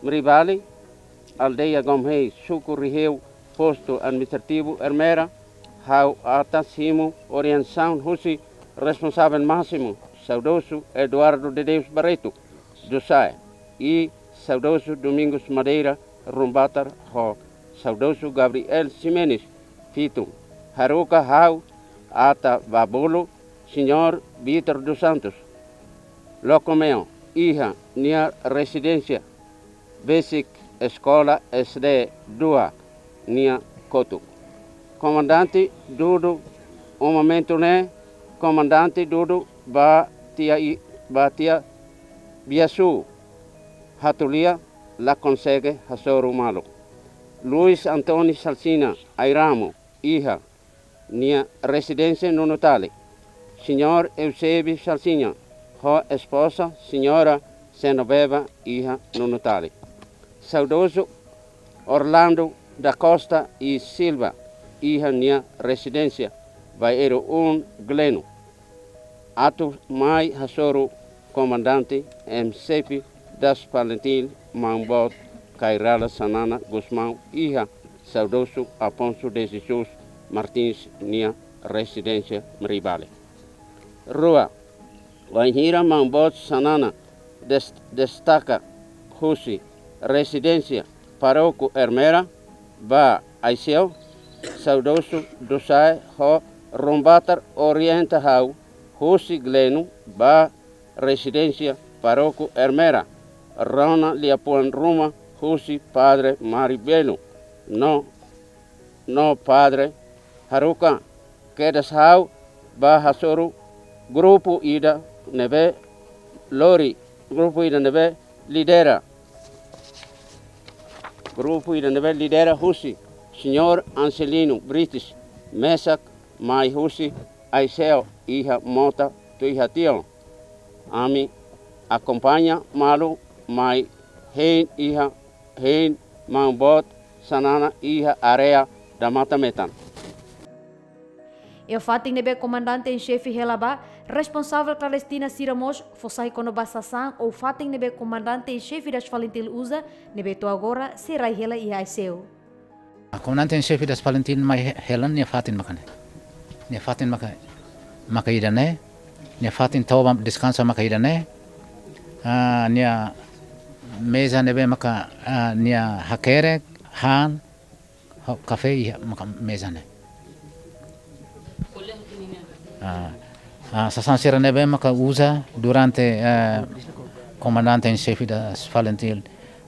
Mribali, aldeia Gomhei, suku Riheu, postu administrativu Ermera, ha'u ata simu orientasaun husi responsavel másimu, saudozu Eduardo de Deus Barreto, Dusae, i saudozu Domingos Madeira Rumbatar ho saudozu Gabriel Ximenes, Fitu. Haruka ha'u ata ba bolu Señór Vítor dos Santos Locomeo iha nia rezidénsia besik Eskola S D dua nia kotuk. Komandante Dudu, momentu ne'e Komandante Dudu ba tiha i-, ba tiha Biasu, Hatulia, la konsege hasoru malu. Luis António Xaxina Airamo iha nia rezidénsia Nunutali. Señór Eusébio Xaxina ho espoza Señora Genoveva iha Nunutali. Saudozu Orlando da Costa e Silva iha nia rezidénsia Bairro um, Gleno. Atu mai hasoru Komandante em Chefe das FALINTIL, maun boot Kay Rala Xanana Gusmão iha saudozu Afonso de Jesus Martins nia rezidénsia Mribali. Rua, bainhira maun boot Xanana des-, destaka husi rezidénsia Pároku Ermera ba Aiseu, saudozu Dusae ho Rumbatar orienta ha'u husi Gleno ba rezidénsia Pároku Ermera, rona liafuan ruma husi Padre Mário Velo no, no Padre Haruka, kedas ha'u ba hasoru grupu ida ne'ebé lori, grupu ida ne'ebé lidera, grupu ida ne'ebé lidera husi Señór Angelino Brites, mesak mai husi Aiseu iha mota tuir hatian. Ami akompaña malu mai hein iha, hein maun boot Xanana iha área da Mata Metan. Iha fatin ne'ebé Komandante em Chefe hela ba, responsavel klandestina sira mós fó sai kona-ba sasán ou fatin ne'ebé Komandante em Chefe das FALINTIL uza, ne'ebé to'o agora sei rai hela iha Aiseu. Komandante em Chefe das FALINTIL mai he-, hela nia fatin maka ne'e. Nia fatin maka, maka ida-ne'e, nia fatin tau ba deskansa maka ida-ne'e, Ah, nia meza ne'ebé maka, ah, nia hakerek, han, ho kafé iha maka meza ne'e. Ah, ah, sasán sira ne'ebé maka uza durante, eh, komandante em xefe das FALINTIL,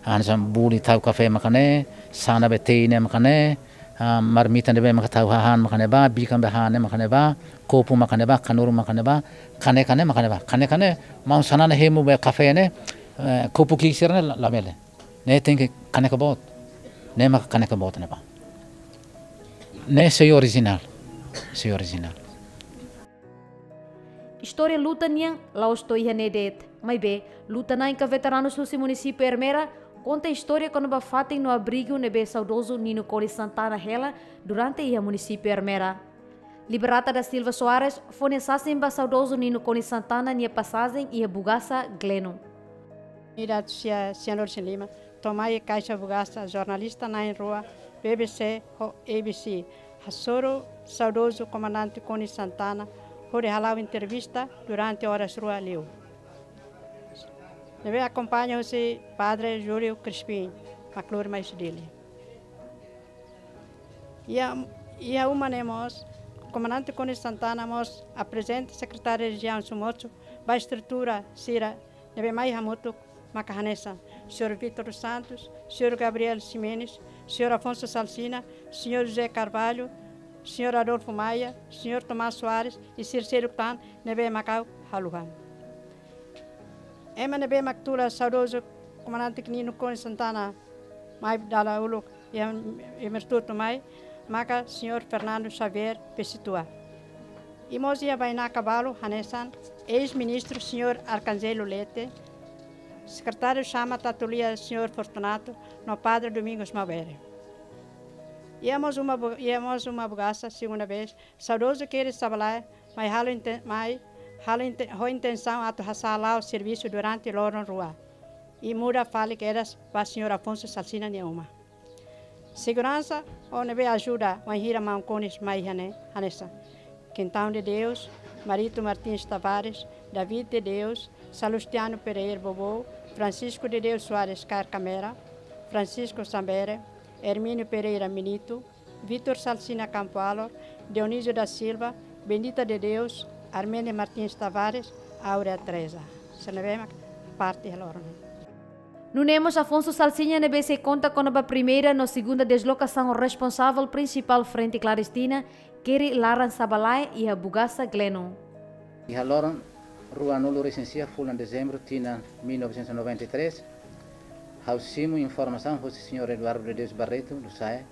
ah, hanesan buli tau kafé maka ne'e, sana be tei ne'e maka ne'e, ah, marmita ne'ebé maka tau hahán maka ne'ebá, bikan be han ne'e maka ne'ebá, kopu maka ne'ebá, kanuru maka ne'ebá, kaneka ne'e maka ne'ebá. Kaneka ne'e, maun Xanana hemu be kafé ne'e, eh, kopu ki'ik sira ne'e la, labele. Ne'e tenke kaneka boot. Ne'e maka kaneka boot ne'ebá. Ne'e sei orijinál. Sei orijinál. Istória luta nian la'ós to'o iha ne'e de'it. Maibé, luta-na'in ka veteranus husi munisípiu Ermera konta istória kona-ba fatin no abrigu ne'ebé saudozu Nino Konis Santana hela durante iha munisípiu Ermera. Liberata da Silva Soares fó nia sasin ba saudozu Nino Konis Santana nia pasajen iha Bugaça, Gleno. Ida sia Sianor Sin Lima, to'o mai Kaixa Bugaça, jornalista na'in rua, B B C ho A B C, hasoru saudozu Komandante Konis Santana, hodi hala'o entrevista durante oras rua liu. Ne'ebé akompaña husi Padre Júlio Crispim, maklur mai Dili. Iha, iha uma ne'e mós, Komandante Konis Santana mós aprezenta Sekretáriu Rejiaun Somoco ba estrutura sira ne'ebé mai hamutuk maka hanesan Señór Vítor dos Santos, Señór Gabriel Ximenes, Señór Afonso Salsinha, Señór José Carvalho, Señór Adolfo Maia, Señór Tomás Soares, i sira seluk tan ne'ebé mak ha'u haluhan. Ema ne'ebé mak tula saudozu Komandante Nino Konis Santana mai dala uluk iha, iha Mertutu mai, maka Señór Fernando Xavier Pessoa. I mós iha bainaka balu hanesan eis-ministru Señór Arcangelo Leite, sekretáriu Xama Tatulia Señór Fortunato, no Padre Domingos Maubere. Iha mós uma bu-, iha mós uma bugaça, segunda vez, saudozu Keris Sabalae, mai halo inten-, mai halo inten-, ho intensaun atu hasa'e la'o servisu durante loron rua. I muda fali kedas ba Señór Afonso Salsinha nia uma. Seguransa, o ne'ebé ajuda, wainhira maun Konis mai iha ne'e, hanesan Quintão de Deus, Marito Martins Tavares, David de Deus, Salustiano Pereira Bobo, Francisco de Deus Soares Carcamera, Francisco Sambere, Hermínio Pereira Minito, Vítor Salsinha Campo Alor, Dionísio da Silva, Bendita de Deus, Armene Martins Tavares, Áurea Teresa. Sira ne'ebé mak parte iha loron. Nune'e mós Afonso Salsinha ne'ebé sei konta kona-ba primeira no segunda deslokasaun responsavel prinsipál Frente Klandestina keri laran Sabalae iha Bugaça, Gleno. Iha loron ruanulu-resin-sia fulan Dezembru tinan mil novecentos e noventa e três, ha'u simu informasaun husi Señór Eduardo de Deus Barreto Dusae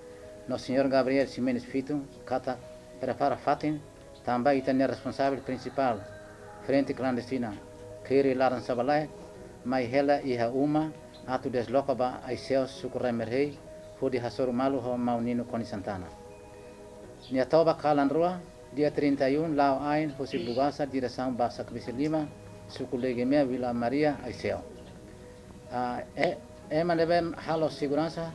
no Señór Gabriel Ximenes Fito katak prepara fatin tanba ita-nia responsavel prinsipál Frente Klandestina keri laran Sabalae mai hela iha uma atu desloka ba Aiseu, suku Remerhei, hodi hasoru malu ho maun Nino Konis Santana. Nia toba kalan rua, dia trinta e um, la'o ain husi Bugaça diresaun ba Sakbisi Lima, suku Legemea, Vila Maria, Aiseu. Ah, e, ema ne'ebé halo seguransa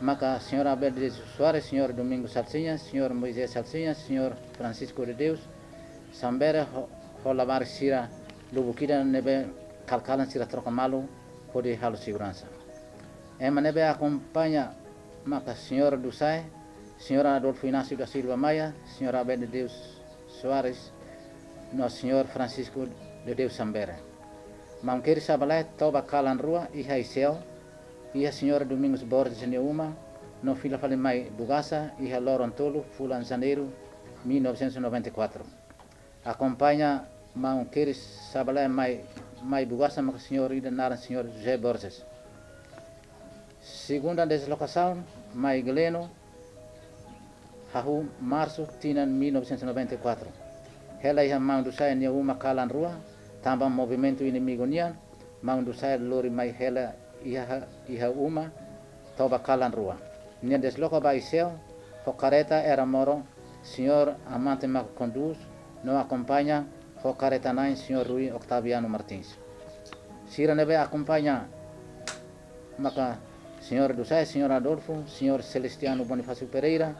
maka Señór Abel de Deus Soares, Señór Domingos Salsinha, Señór Moisés Salsinha, Señór Francisco de Deus Sambere ho, ho labarik sira lubuk ida ne'ebé kalan-kalan sira troka malu hodi halo seguransa. Ema ne'ebé akompaña maka Señór Dusae, Señór Adolfo Inácio da Silva Maia, Señór Abel de Deus Soares, no Señór Francisco de Deus Sambere. Maun Keris Sabalae toba kalan rua iha Aiseu, iha Señór Domingos Borges nia uma, no fila fali mai Bugaça iha loron tolu fulan Janeiru mil novecentos e noventa e quatro. Akompaña maun Keris Sabalae mai, mai Bugaça maka señór ida naran Señór José Borges. Segunda deslokasaun mai Gleno, hahú Marsu tinan mil novecentos e noventa e quatro. Hela iha maun Dusae nia uma kalan rua, tanba movimentu inimigu nian, maun Dusae lori mai hela iha, iha uma, toba kalan rua. Nia desloka ba Aiseu, ho kareta Era Moro, señór Amante mak kondús, no akompaña ho kareta-na'in señór Rui Octaviano Martins. Sira ne'ebé akompaña maka señór Dusae, señór Adolfo, señór Celestiano Bonifácio Pereira,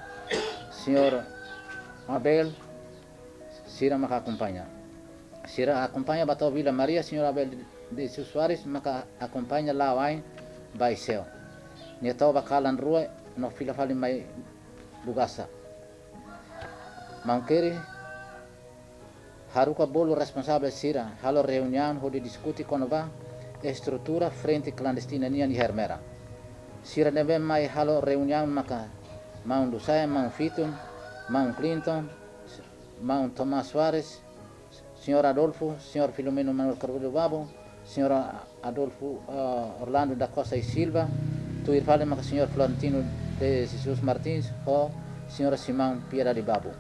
señór Abel, sira maka akompaña. Sira akompaña ba to'o Vila Maria, señór Abel de Jesus Soares maka akompaña la'o ain ba Aiseu. Nia to'o ba kalan rua no fila fali mai Bugasa. Maun Keri haruka bolu responsavel sira halo reuniaun hodi diskute kona-ba estrutura frente klandestina nian iha Ermera. Sira ne'ebé mai halo reuniaun maka Maun Lusae, Maun Fitun, Maun Clinton, Maun Tomás Soares, Señór Adolfo, Señór Filomeno Manuel Carvalho Babo, Señór Adolfo, ah, Orlando da Costa e Silva, tuir fali maka Señór Florentino de Jesus Martins, ho Señora Simão Piedade Babo.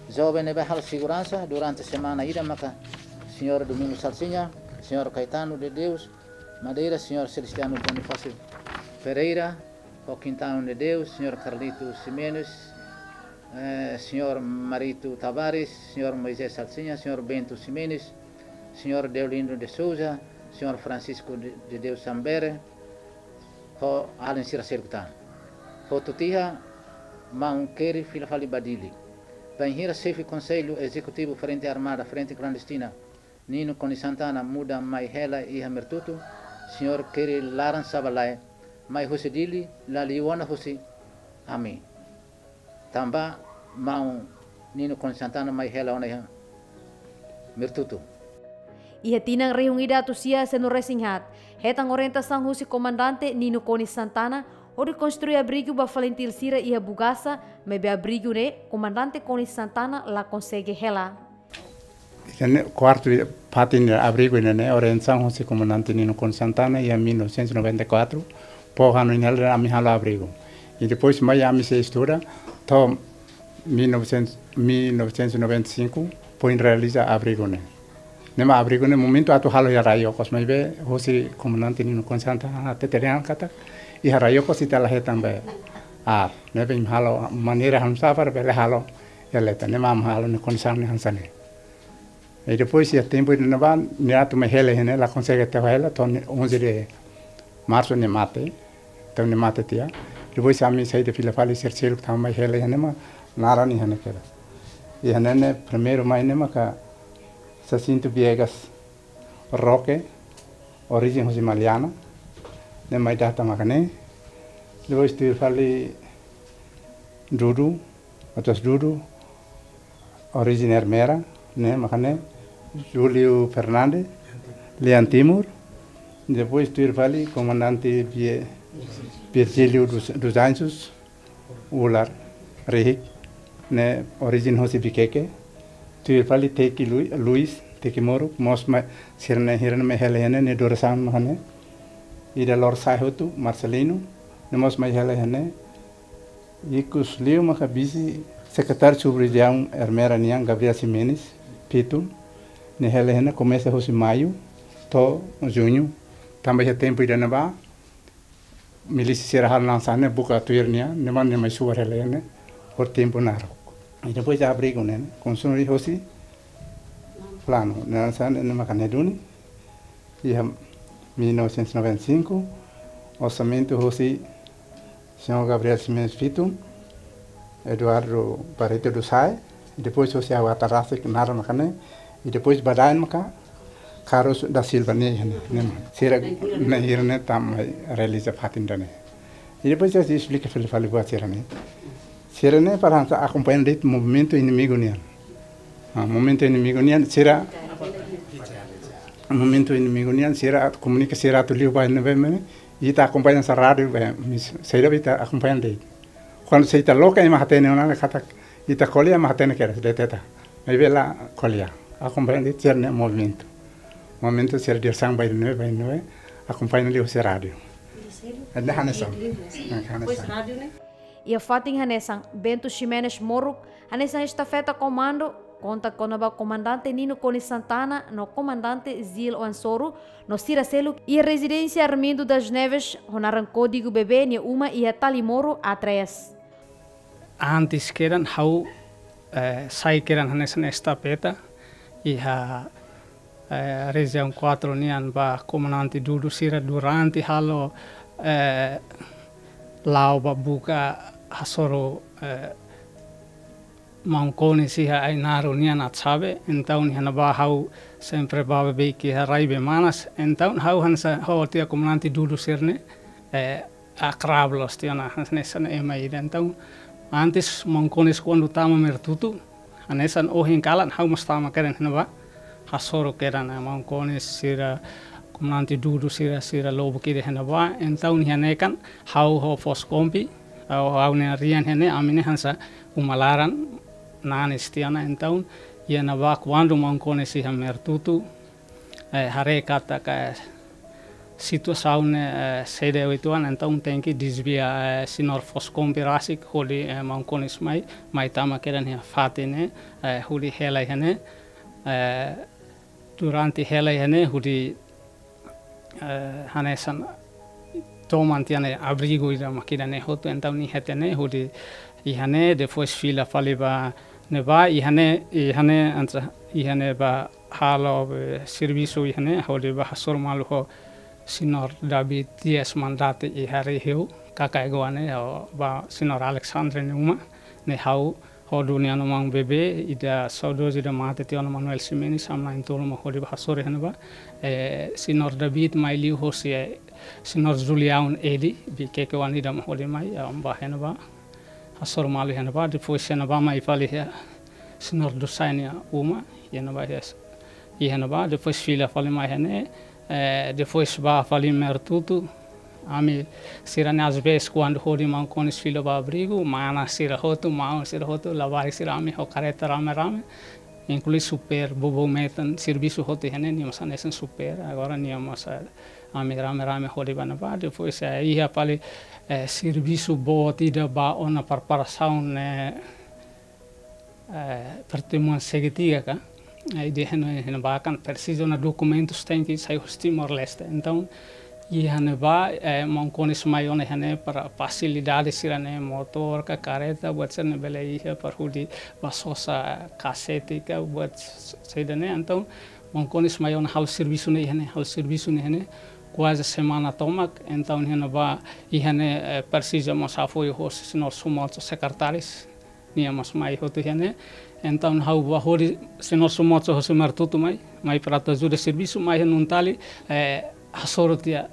Joven ne'ebé halo seguransa durante semana ida maka Señór Domingos Salsinha, Señór Caetano de Deus Madeira, Señór Celestino Bonifácio Pereira, ho Quintão de Deus, Señór Carlito Ximenes, eh, Señór Marito Tavares, Señór Moisés Salsinha, Señór Bento Ximenes, Señór Deolindo de Souza, Señór Francisco de, de Deus Sambere, ho alin sira seluk tan. Hotu tiha, Maun Keri fila fali ba Dili. Bainhira xefe Konsellu Ezekutivu Frente Armada, Frente Klandestina, Nino Konis Santana muda mai hela iha Mertutu, Señór Keri laran saba lae, mai husi Dili, la liu ona husi ami. Tanba Maun Nino Konis Santana mai hela ona iha Mertutu. Iha tinan rihun ida atus sia sianulu resin haat, hetan orientasaun husi Komandante Nino Konis Santana, hodi konstrui abrigu ba FALINTIL sira iha Bugasa, maibé abrigu ne'e, Komandante Konis Santana la konsege hela. Ida-ne'e kuartu ida, fatin ida abrigu ida-ne'e, orientasaun husi Komandante Nino Konis Santana iha mil novecentos e noventa e quatro, fó hanoin hela ami halo abrigu. I depois mai ami sei estuda, to'o mil novecentos, mil novecentos e noventa e cinco, foin realiza abrigu ne'e. Ne'e mak abrigu ne'e momentu atu halo iha rai okos, maibé husi Komandante Nino Konis Santana hatete dehan katak iha rai okos ita la hetan be aar, ne'ebé imi halo maneira hanesan sá para bele halo iha leten, ne'e mak ami halo ne'e kondisaun ne'e hanesan ne'e. I depois iha tempu ida-ne'ebá, nia atu mai hela iha ne'e, la konsege tau hela, to'o onze de março nia mate, to'o nia mate tiha. Depois ami saida fila fali sira seluk tama mai hela iha ne'e mak naran iha ne'e kedas. Iha ne'e ne'e primeiru mai ne'e maka Jacinto Viegas Roque, orijen husi Maliana, ne'e mai data maka ne'e. Depois tuir fali Dudu, Matos Dudu, orijen Ermera, ne'e maka ne'e, Júlio Fernandes, Lian Timur, depois tuir fali Komandante Vie-, Virgílio dos, dos Anjos, Ular Rihik, ne'e orijen husi Viqueque, tuir fali Teki Lu-, Luis, Teki Moruk, mós mai, sira-ne'e, sira-ne'e mai hela iha ne'e, nia durasaun maka ne'e, ida Lor Sai Hotu, Marcelino, ne'e mós mai hela iha ne'e, ikus liu maka vise sekretáriu sub-rejiaun Ermera nian Gabriel Ximenes, Fitun, nia hela iha ne'e komesa husi maiu to'o juñu, tanba iha tempu ida-ne'ebá, milísia sira halo hanesan ne'e buka tuir nia, ne'e mak nia mai subar hela iha ne'e, por tempu naruk. I depois abrigu ne'e, konstrui husi planu, ne'e hanesan ne'e maka ne'e duni, iha mil novecentos e noventa e cinco, orsamentu husi Señór Gabriel Ximenes Fitun, Eduardo Barreto do Sai, i depois husi Awatarasik naran maka ne'e, i depois ba daen maka Carlos da Silva ne'e, ne'e, ne'e, sira, ne'e, sira-ne'e tama mai realiza fatin ida-ne'e. I depois sei esplika fali fali buat sira-ne'e. Sira-ne'e para hanesan akompaña de'it movimentu inimigu nian. Ah, movimentu inimigu nian, sira, movimentu inimigu nian, sira atu komunika sira atu liu ba ne'ebé ne'e, ita akompaña hanesan rádiu, be, mis-, saida be ita akompaña de'it. Kuandu se ita loke ema hatene ona katak ita ko'alia ema hatene kedas deteta. Maibé la ko'alia. Akompaña de'it sira-nia movimentu. Movimentu sira diresaun ba ne'ebé, ba ne'ebé. Akompaña liu husi rádiu. Ne'e hanesan. Ne'e hanesan. Iha fatin hanesan, Bento Ximenes Moruk, hanesan estafeta komandu, konta kona-ba Komandante Nino Konis Santana no Komandante Zil Oansoru, no sira seluk iha rezidénsia Armindo das Neves, ho naran kódigu bebé nia uma iha Talimoru A três. Antes kedan ha'u, eh, sai kedan hanesan estafeta iha, eh, rejiaun quatro nian ba Komandante Dudu sira durante halo, eh, la'o ba buka hasoru, eh, maun Konis iha Ainaro nian atu sabe, entaun iha ne'ebá ha'u sempre bá bebeik iha rai bee manas, entaun ha'u hanesan ho tiha komandante Dudu sira-ne'e, eh, akrab loos tiha ona hanesan ema ida. Entaun antes maun Konis kuandu tama Mertutu, hanesan ohin kalan ha'u mós tama kedan iha ne'ebá, hasoru kedan maun Konis sira, komandante Dudu sira, sira lubuk ida iha ne'ebá, entaun iha ne'e kan ha'u ho Foskompi, ha'u, ha'u-nia rian iha ne'e, ami ne'e hanesan uma laran nanis tiha ona, entaun iha ne'ebá kuandu maun Konis iha Mertutu, eh, haree katak situasaun ne'e, eh, sei de'it uitoan, entaun tenke dezvia, eh, señór Foskompi rasik hodi, eh, maun Konis mai, mai tama kedan iha fatin ne'e, eh, hodi hela iha ne'e, eh, durante hela iha ne'e hodi, eh, hanesan toman tiha ona abrigu ida mak ida-ne'e hotu, entaun iha tiha ne'e hodi iha ne'e, depois fila fali ba ne'ebá, iha ne'e, iha ne'e hanesan, iha ne'e bá halo, eh, servisu iha ne'e, hodi bá hasoru malu ho señór David Dias Mandate iha Riheu, Kakaegoa ne'e, ho ba señór Alexandre nia uma, ne'e ha'u ho Dunia no maun bebé, ida saudozu ida mate tiha ona Manuel Ximenes, ami na'in-tolu mak hodi bá hasoru iha ne'ebá. Eh, señór David mai liu hosi, eh, señór Julião Edi, Viqueque oan ida mak hodi mai, eh, bá iha ne'ebá. Hasoru malu iha ne'ebá, depois iha ne'ebá mai fali iha señór Dusai nia uma, iha ne'ebá iha, iha ne'ebá, depois fila fali mai iha ne'e, eh, depois bá fali Mertutu, ami sira-ne'e às vezes kuandu hodi maun Konis fila ba abrigu, mana sira hotu, maun sira hotu, labarik sira ami ho karreta rame-rame, inklui xofér, bobo metan, servisu hotu iha ne'e, nia mós hanesan xofér, agora nia mós, eh, ami rame-rame hodi bá ne'ebá, depois, eh, iha fali, eh, servisu boot ida ba ona preparasaun ne'e, eh, pertemuan segitiga ka, eh, ida iha ne'e, iha ne'ebá kan presiza ona dokumentus tenke sai husi Timor-Leste. Entaun, iha ne'ebá, eh, maun Konis mai ona iha ne'e para fasilidade sira-ne'e, motór ka, karreta, buat sira-ne'e bele iha para hodi bá sosa kasete ka, buat s-, saida ne'e. Entaun, maun Konis mai ona halo servisu ne'e iha ne'e, halo servisu ne'e iha ne'e, kuaze semana tomak, entaun iha ne'ebá, iha ne'e, eh, presiza mós apoiu hosi señór Sumoco sekretáriu, nia mós mai hotu iha ne'e. Entaun ha'u bá hodi señór Sumoco hosi Mertutu mai, mai para atu ajuda servisu, mai iha Nuntali, eh, hasoru tiha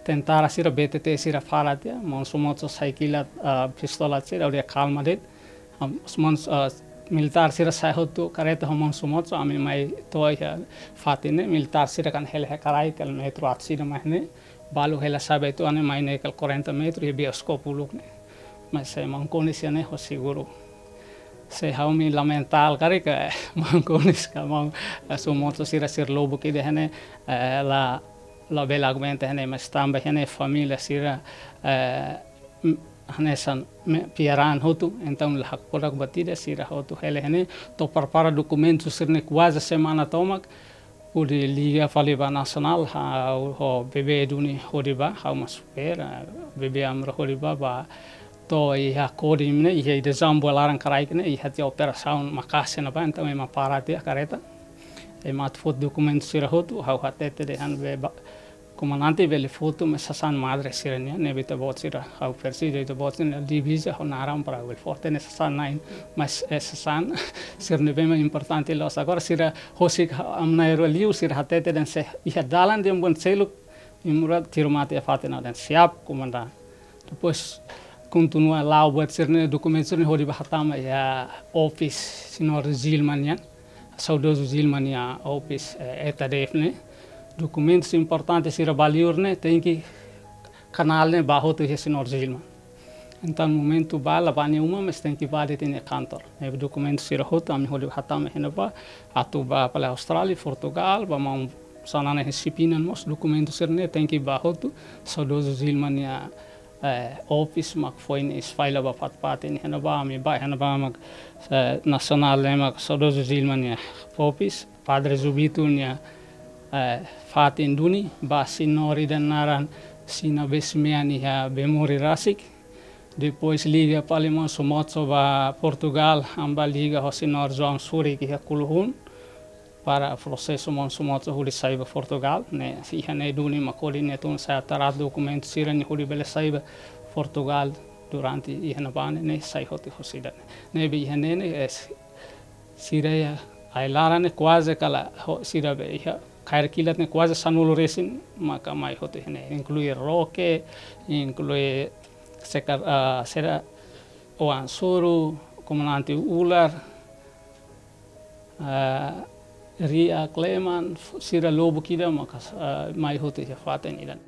tentara sira, B T T sira fara tiha, maun Sumoco sai kilat, ah, pistola sira, hodi kalma de'it. Am, maun, ah, militár sira sai hotu karreta ho maun Sumoco, ami mai to'o iha fatin ne'e, militár sira kan hela iha karai, kala metru atus ida mai ne'e, balu hela sai ba uitoan ne'e mai ne'e kala quarenta metru, iha bioskop uluk ne'e. Mas, eh, maun Konis iha ne'e ho seguru. Se ha'u-nia lamenta karik, eh, maun Konis ka maun, eh, Sumoco sira, sira lubuk ida iha ne'e, eh, la, labele aguenta iha ne'e, mas tanba iha ne'e família sira, eh, m-, hanesan me-, piaraan hotu, entaun la hakfodak buat ida, sira hotu hela iha ne'e, to'o prepara dokumentu sira-ne'e kuaze semana tomak, hodi liga fali ba Nasionál, ha'u ho bebé duni hodi bá, ha'u mós xofér, eh, bebé Amro hodi bá, bá to'o iha Kodim ne'e, iha ida Zamboa laran karaik ne'e, iha tiha operasaun maka'as ne'ebá, entaun ema para tiha karreta. Ema atu foti dokumentu sira hotu, ha'u hatete dehan be ba, komandante bele foti, mas sasán madre sira-nian, ne'ebé ita-boot sira, ha'u presiza ita-boot sira-nia diviza, ha'u naran para bele foti ne'e sasán na'in, mas, eh, sasán sira ne'ebé mak importante loos. Agora sira husik ha-, ami na'in-rua liu, sira hatete dehan se iha dalan dehan buat seluk, Imurad tiru mate iha fatin ne'e, dehan siap, komandante. Depois kontinua la'o buat sira-ne'e, dokumentu sira-ne'e hodi bá hatama iha office señór Zilma nian, saudozu Zilma nia office, eh, E T D F ne'e. Dokumentus importante sira ba liur ne'e, tenke kanál ne'e bá hotu iha señór Zilma. Entaun momentu bá la bá nia uma, mas tenke bá de'it nia kantor. Ne'ebé dokumentu sira hotu, ami hodi hatama iha ne'ebá, atu bá fali Austrália, Portugal, bá maun Xanana iha Sipinan mós, dokumentu sira-ne'e tenke bá hotu, saudozu Zilma nia, eh, office mak foin espalla ba fatin-fatin, iha ne'ebá ami bá, iha ne'ebá mak, eh, Nasionál ne'e mak saudozu Zilma nia office, Padre Zubito nia, eh, fatin duni, bá señór ida naran Sina Besmean iha Bemori rasik. Depois liga fali maun Sumoco ba Portugal, ami bá liga ho señór João Surik iha Kuluhun, para prosesu maun Sumoco hodi sai ba Portugal, ne'e, iha ne'e duni mak hodi nia tun sai atu rate dokumentu sira-ne'e hodi bele sai ba Portugal. Durante iha ne'ebá ne'e sai hotu husi ida-ne'e. Ne'ebé iha ne'e ne'e, eh, sira iha ai-laran ne'e kuaze kala ho sira be iha kaer kilat ne'e kuaze sanulu resin maka mai hotu iha ne'e. Inklui Roke, inklui Sekar-, ah, sira Oan Suru, Komandante Ular, ah, Ria Kleman, sira lubuk ida maka, ah, mai hotu iha fatin ida.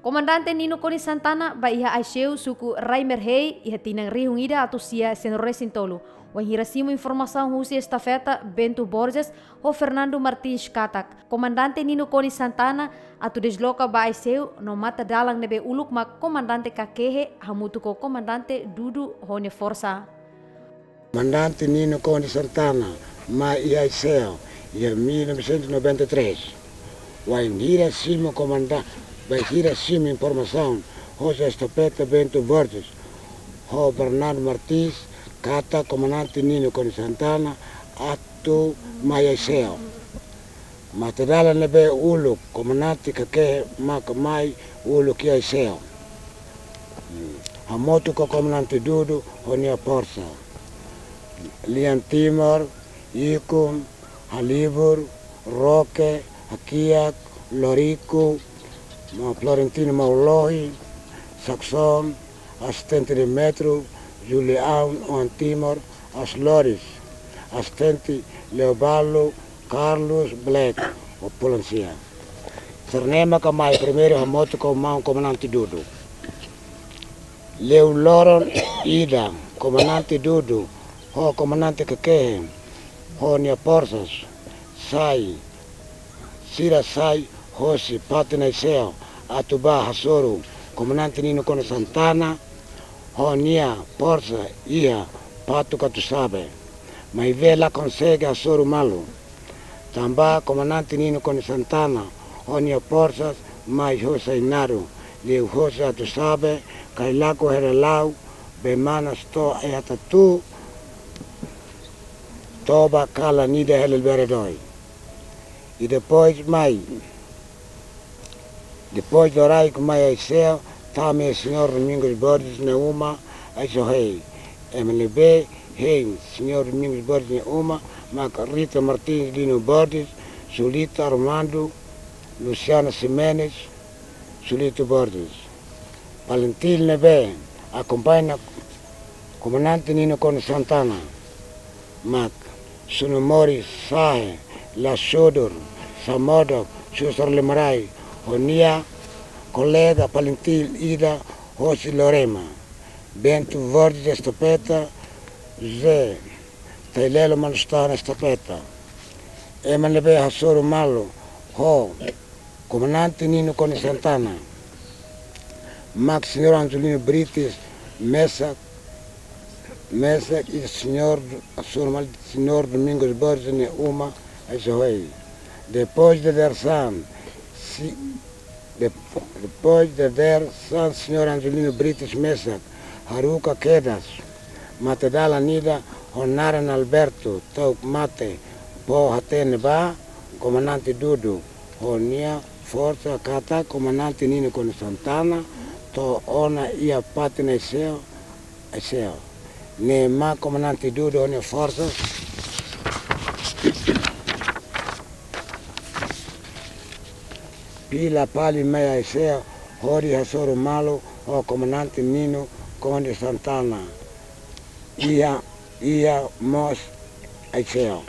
Komandante Nino Konis Santana ba iha Aiseu, suku Rai Merhei, iha tinan rihun ida atus sia sianulu resin tolu. Wainhira simu informasaun husi estafeta Bento Borges ho Fernando Martins katak Komandante Nino Konis Santana atu desloka ba Aiseu, no matadalan ne'ebé uluk mak Komandante Kakehe hamutuk ho Komandante Dudu ho nia forsa. Komandante Nino Konis Santana mai iha Aiseu iha mil novecentos e noventa e três. Wainhira simu komanda-, wainhira simu informasaun hosi estafeta Bento Borges ho Fernando Martins katak Komandante Nino Konis Santana atu mai Aiseu. Matadalan ne'ebé uluk Komandante Kakehe maka mai uluk iha Aiseu. Hmm. Hamutuk ho Komandante Dudu ho nia forsa. Lian Timor, Ikun, Halibur, Roke, Hakiak, Loriku, Ma-, Florentino Maulohi, Saxon, asistente Demetrio, Julião, Oan Timor, As Loris, asistente Leobaldo, Carlos Black, ho Polansia. Sira-ne'e maka mai primeiru hamutuk ho maun Komandante Dudu. Liu loron ida, Komandante Dudu ho Komandante Kakehe ho nia forsa sai, sira sai hosi fatin Aiseu atu bá hasoru Komandante Nino Konis Santana ho nia forsa iha Patu Katusabe. Maibé la konsege hasoru malu. Tanba Komandante Nino Konis Santana ho nia forsa mai hosi Ainaro, liu hosi Katusabe, Kailaku, Hela-Laau, Bemanas to'o Aiatatu, toba kala ida Hela Liberdade. I depois mai, depois Loriku mai Aiseu, tama iha Señór Domingos Borges nia uma, Aisehei. Ema ne'ebé hein Señór Domingos Borges nia uma, mak Rita Martins, Lino Borges, Julita, Armando, Luciana Ximenes, Julito Borges. Palentil ne'ebé akompaña Komandante Nino Konis Santana, mak Sunumori, Sahe, Lasudur, Samodok, Susar Lemarai, ho nia kolega Palentil ida hosi Lorema, Bento Borges estafeta, José Tailelo Manustana estafeta. Ema ne'ebé hasoru malu ho Komandante Nino Konis Santana, mak Señór Angelino Brites mesak, mesak i Señór, Señór Mal-, Señór Domingos Borges nia uma, Aisehei. Depois de Dersan, si, de, depois de Dersan, Señór Angelino Brites mesak haruka kedas matadalan ida ho naran Alberto, to'o mate, bá hatene ba Komandante Dudu ho nia forsa katak Komandante Nino Konis Santana to'o ona iha fatin Aiseu, Aiseu. Ne'e mak Komandante Dudu ho nia forsa fila fali mai Aiseu hodi hasoru malu ho Komandante Nino Konis Santana iha, iha mós Aiseu.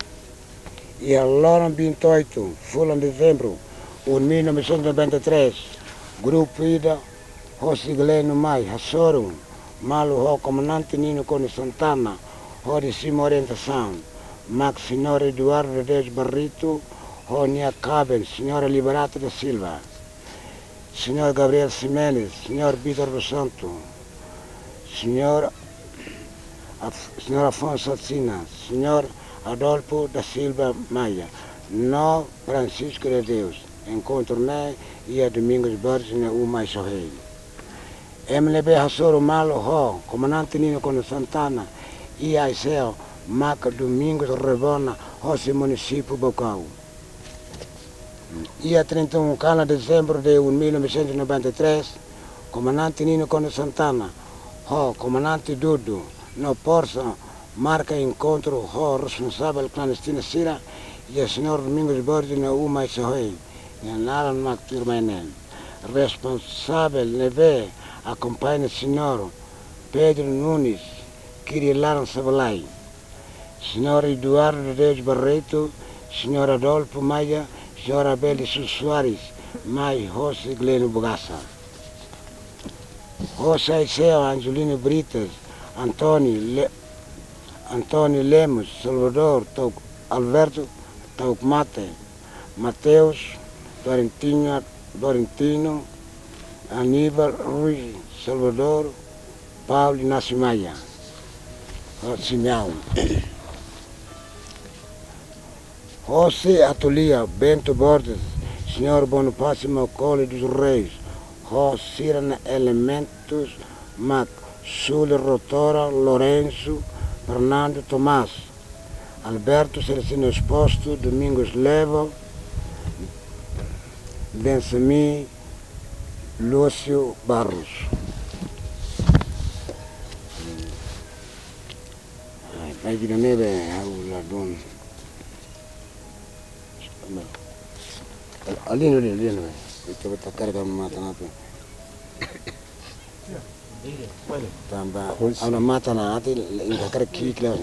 Iha loron vinte e oito fulan Dezembru, un mil novecentos e noventa e três, grupu ida hosi Gleno mai hasoru malu ho Komandante Nino Konis Santana hodi simu orientasaun, mak Señór Eduardo de Deus Barreto ho nia kaben, Señora Liberata da Silva, Señór Gabriel Ximenes, Señór Vítor dos Santos, Señór Af-, Señór Afonso Asina, Señór Adolfo da Silva Maia, no Francisco de Deus. Enkontru ne'e iha Domingos Borges nia uma, Aisehei. Ema ne'ebé hasoru malu ho Komandante Nino Konis Santana iha Aiseu maka Domingos Rebona hosi munisípiu Baucau. Iha trinta e um kala Dezembru de un mil novecentos e noventa e três, Komandante Nino Konis Santana ho Komandante Dudu, no Porsa marka enkontru ho responsavel klandestina sira, iha Señór Domingos Borges nia uma iha Sohé, nia naran mak tuirmai ne'e. Responsavel ne'ebé akompaña Señór Pedro Nunes, Kiri Laran Sabalai, Señór Eduardo de Deus Barreto, Señór Adolfo Maia, Señór Abel de Sousa Soares, mai hosi Gleno Bugasa. Hosi Aiseo, Angelino Brites, Antoni Le-, Antoni Lemos, Salvador, Tauk Alberto, Tauk Mate, Mateus, Florentino, Florentino, Aníbal Rui, Salvador, Paulo Inácio Maia, Simeão. Hosi Atulia, Bento Borges, Señór Bonifácio Macaulay dos Reis, ho sira-nia elementus mak Súlio Rotora, Lourenço, Fernando Tomás, Alberto Celestino Exposto, Domingos Levo, Bensemi, Lúcio Barros. Ai, ai, vida nebe, au ladon. Alin, alin, alin, alin. Ita beta karga matan atu. Tanba, hosi, ha'u-nia matan atu, inda karga kik la.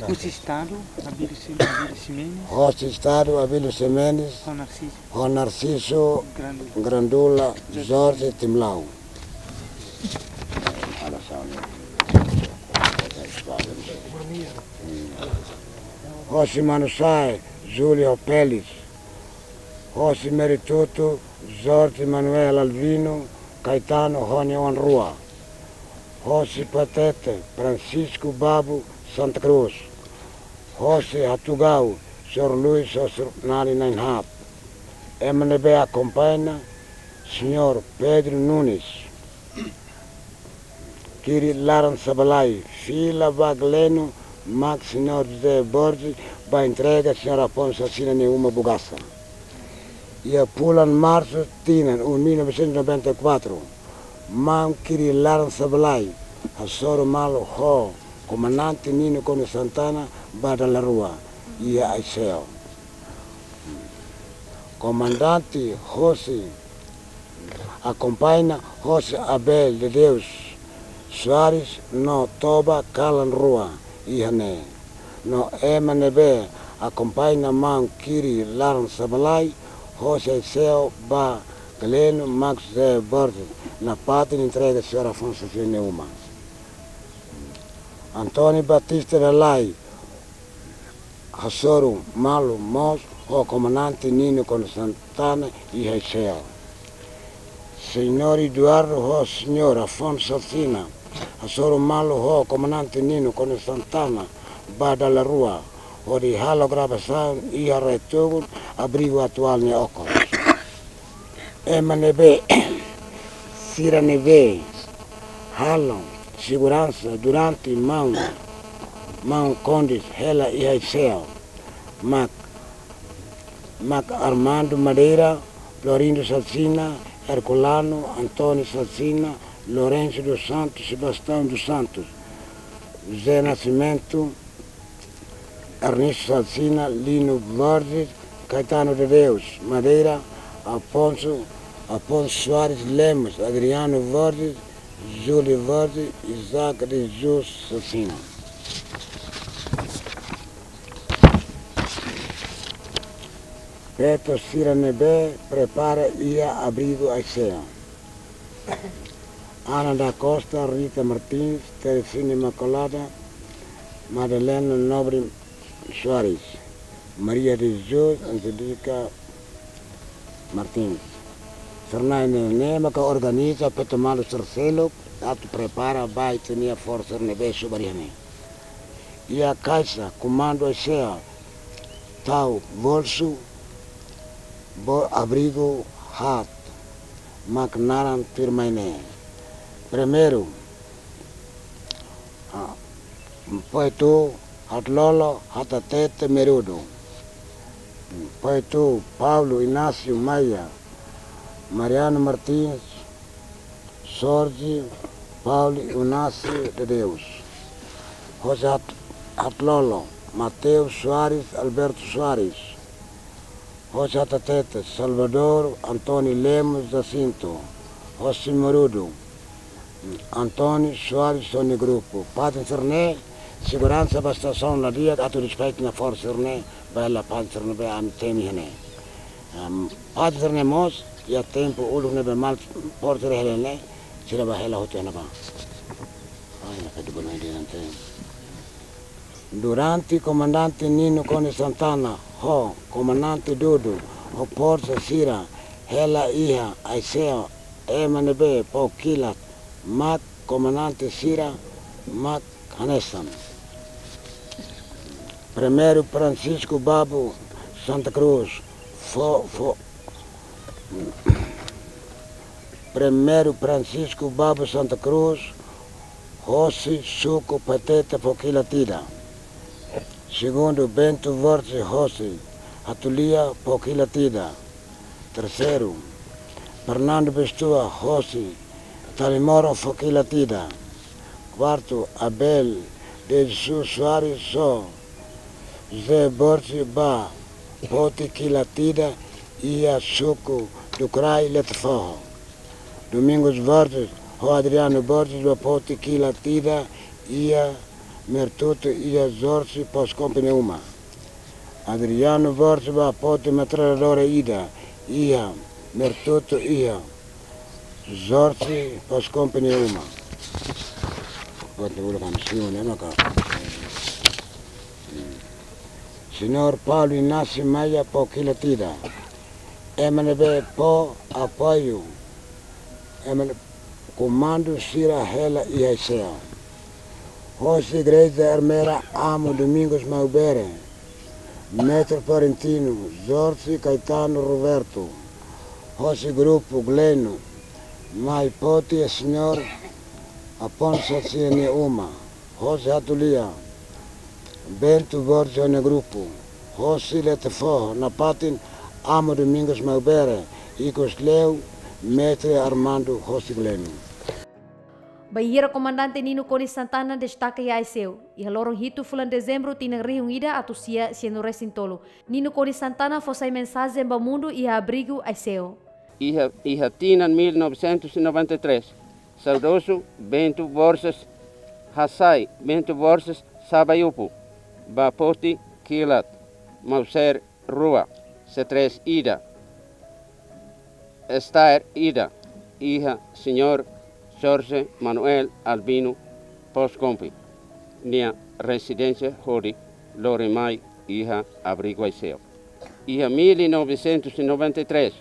Hosi Estadu, Abílio Sim-, Abílio Ximenes. Hosi Estadu, Abílio Ximenes. Ho Narciso. Ho Narciso Grandula. Grandula, Jorge Timlau. Hosi Manusai, Júlio Pérez. Hosi Meritutu, Jorge Manuel Alvino, Caetano ho nia oan rua. Hosi Patete, Francisco Babu Santa Cruz. Hosi Hatugau, Señór Luis, Señór Nali Nainhap. Ema ne'ebé akompaña, Señór Pedro Nunes, Kiri Laran Sabalai, fila ba Gleno, mak Señór José Borges, ba entrega Señór Afonso Asina nia uma Bugasa. Iha fulan Marsu tinan, um mil novecentos e noventa e quatro, maun Kiri Laran Sabalai, hasoru malu ho Komandante Nino Konis Santana, ba dala rua, iha Aiseo. Komandante hosi akompaña hosi Abel de Deus Soares no toba kalan rua iha ne'e. No ema ne'ebé akompaña maun Kiri Laran Sabalai, hosi Aiseo ba Gleno mak José Borges, nafatin entrega Señór Afonso Asina nia uma. António Batista Lalai, hasoru malu mós ho Komandante Nino Konis Santana iha Aiseo. Señór Eduardo ho Señór Afonso Asina, hasoru malu ho Komandante Nino Konis Santana, ba dala rua, hodi halo gravasaun iha Retogun, abrigu atuál nia okos. Ema ne'ebé, sira ne'ebé halo seguransa durante maun, maun kondis hela iha Aiseo, mak, mak Armando Madeira, Florindo Salsina, Herculano, António Salsina, Lourenço dos Santos, Sebastião dos Santos, José Nascimento, Ernesto Salsina, Lino Borges, Caetano de Deus Madeira, Afonso, Afonso Soares Lemos, Adriano Borges, Júlio Borges, Isaac de Jesus Salsina. Feto sira ne'ebé prepara iha abrigu Aiseo. Ana da Costa, Rita Martins, Teresina Imaculada, Madalena Nobre Soares, Maria de Jesus, Angélica Martins. Sira-ne'e ne'e maka organiza feto malu sira seluk atu prepara ba ita-nia forsa ne'ebé subar iha ne'e. Iha kaixa komandu Aiseo, tau bolsu, bo abrigu haat, mak naran tuirmai ne'e. Primeiru, ah, Poetu Hatlolo Hatatete Merudu. Poetu Paulo Inácio Maia, Mariano Martins, Sorge, Paulo Inácio de Deus, José Hat-, Hatlolo, Mateus Soares, Alberto Soares, José Hatatete, Salvador António Lemos Jacinto, José Morudo, António Soares, Sony Grupo. Paten sira-ne'e, seguransa ba situasaun la di'ak atu despacha nafatin sira-ne'e, ba hela paten sira-ne'ebé ami temi iha ne'e. Am, paten sira-ne'e mós, iha tempu uluk ne'ebé maluk sira hela ne'e, sira bá hela hotu iha ne'ebá. Ai, na pé de bola de ante. Durante Komandante Nino Konis Santana ho Komandante Dudu ho forsa sira hela iha Aiseu, ema ne'ebé pó kilat mak komandante sira mak hanesan: Primeiru Francisco Babu Santa Cruz, fo-, fo-, Primeiru Francisco Babu Santa Cruz, hosi suku Paitete, fó kilat ida. Segundu, Bento Borges, hosi Hatulia, fó kilat ida. Terseiru, Fernando Bestua, hosi Talimoro, fó kilat ida. Kuartu, Abel de Jesus Soares ho José Borges bá foti kilat ida iha suku Dukurai, Letefoho. Domingos Borges ho Adriano Borges bá foti kilat ida iha Mertutu, iha Jorge Pós Kompi nia uma. Adriano Borges bá foti metralhadora ida iha Mertutu, iha Jorge Pós Kompi nia uma. Buat ne'e uluk ami simu ne'e maka. Señór Paulo Inácio Maia fó kilat ida. Ema ne'ebé fó apoiu, ema ne'e komandu sira hela iha Aiseu. Hosi Igreja Ermera, Amo Domingos Maubere, Mestre Florentino, Jorge Caetano Roberto. Hosi grupu Gleno, mai foti Señór Afonso sira-nia uma. Hosi Hatulia, Bento Borges ho nia grupu. Hosi Letefoho, nafatin Amo Domingos Maubere, ikus liu Mestre Armando hosi Gleno. Bainhira Komandante Nino Konis Santana destaka iha Aiseu, iha loron hitu fulan Dezembru tinan rihun ida atus sia sianulu-resin-tolu, Nino Konis Santana fó sai mensajen ba mundu iha abrigu Aiseu. Iha, iha tinan mil novecentos e noventa e três, saudozu Bento Borges hasai, Bento Borges Sabaiupu, bá foti kilat Mauser rua, C três ida, Steyr ida, iha Señór Jorge Manuel Albino Pós Kompi nia rezidénsia hodi lori mai iha abrigu Aiseu. Iha mil novecentos e noventa e três,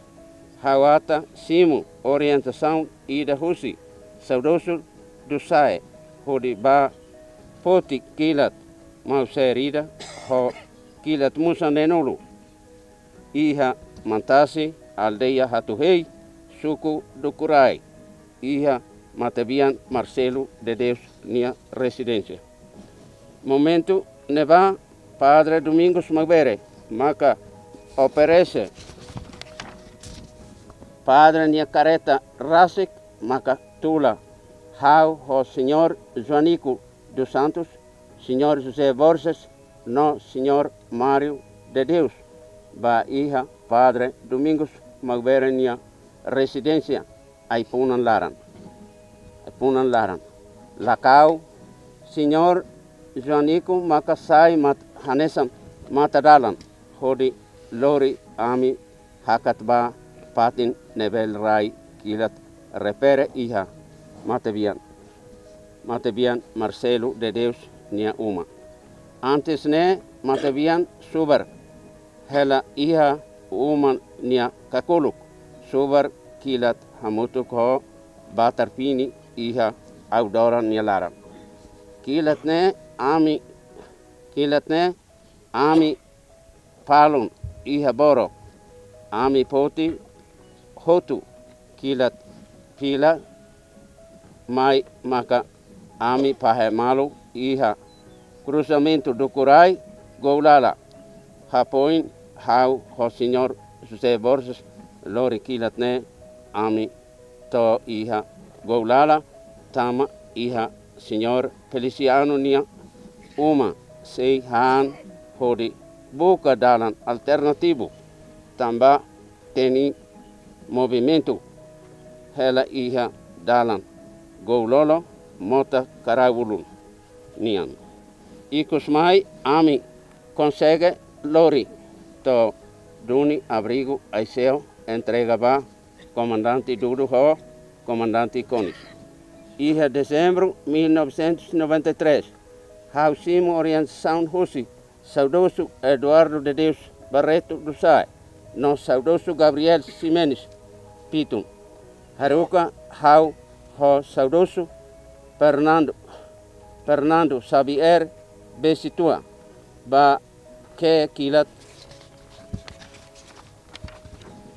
ha'u ata simu orientasaun ida husi saudozu Dusae hodi bá foti kilat Mauser ida ho kilat Musa neenulu iha Mantasi, aldeia Hatuhei, suku Dukurai, iha matebian Marcelo de Deus nia rezidénsia. Momentu ne'ebá Padre Domingos Maubere maka oferese padre nia karreta rasik maka tula ha'u ho Señór Joanico dos Santos, Señór José Borges no Señór Mário de Deus bá iha Padre Domingos Maubere nia rezidénsia Aipunan laran. Aipunan laran. Lakau, Señór Joanico maka sai mat-, hanesan matadalan hodi lori ami hakat ba fatin ne'ebé rai kilat refere iha matebian, matebian Marcelo de Deus nia uma. Antes ne'e matebian subar hela iha uma nia kakuluk, subar kilat hamutuk ho batar fini iha Audora nia laran. Kilat ne'e ami, kilat ne'e ami falun iha boro, ami foti hotu kilat fila mai maka ami fahe malu iha kruzamentu Dukurai Goulala. Hafoin ha'u ho Señór José Borges lori kilat ne'e, ami to'o iha Goulala tama iha Señór Feliciano nia uma sei han hodi buka dalan alternativu tanba temi movimentu hela iha dalan Goulolo mota Karaulun nian. Ikus mai ami konsege lori to'o duni abrigu Aiseu entrega ba Komandante Dudu ho Komandante Konis. Iha Dezembru mil novecentos e noventa e três, ha'u simu orientasaun husi saudozu Eduardo de Deus Barreto do Sai no saudozu Gabriel Ximenes Pitun. Haruka ha'u ho saudozu Fernando, Fernando Xavier Besitua ba ke kilat,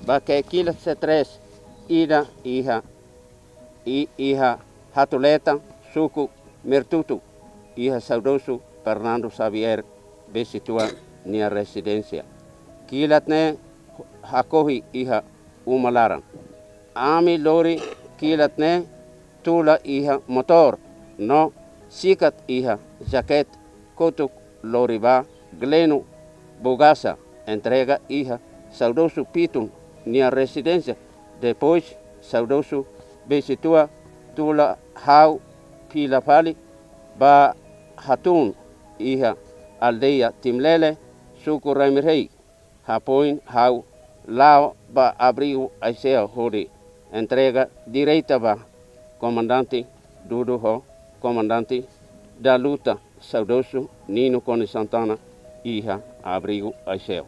ba ke kilat C três ida iha, i iha Hatuleta, suku Mertutu, iha saudozu Fernando Xavier Besitua nia rezidénsia. Kilat ne'e hakohi iha uma laran. Ami lori kilat ne'e tula iha motór no sikat iha jaket kotuk lori ba Gleno Bogasa entrega iha saudozu Pitun nia rezidénsia. Depois saudozu Besitua tula ha'u fila fali ba hatún iha aldeia Timlele, suku Ramirei. Hafoin ha'u la'o ba abrigu Aiseu hodi entrega direta ba Komandante Dudu ho Komandante da Luta saudozu Nino Konis Santana iha abrigu Aiseu.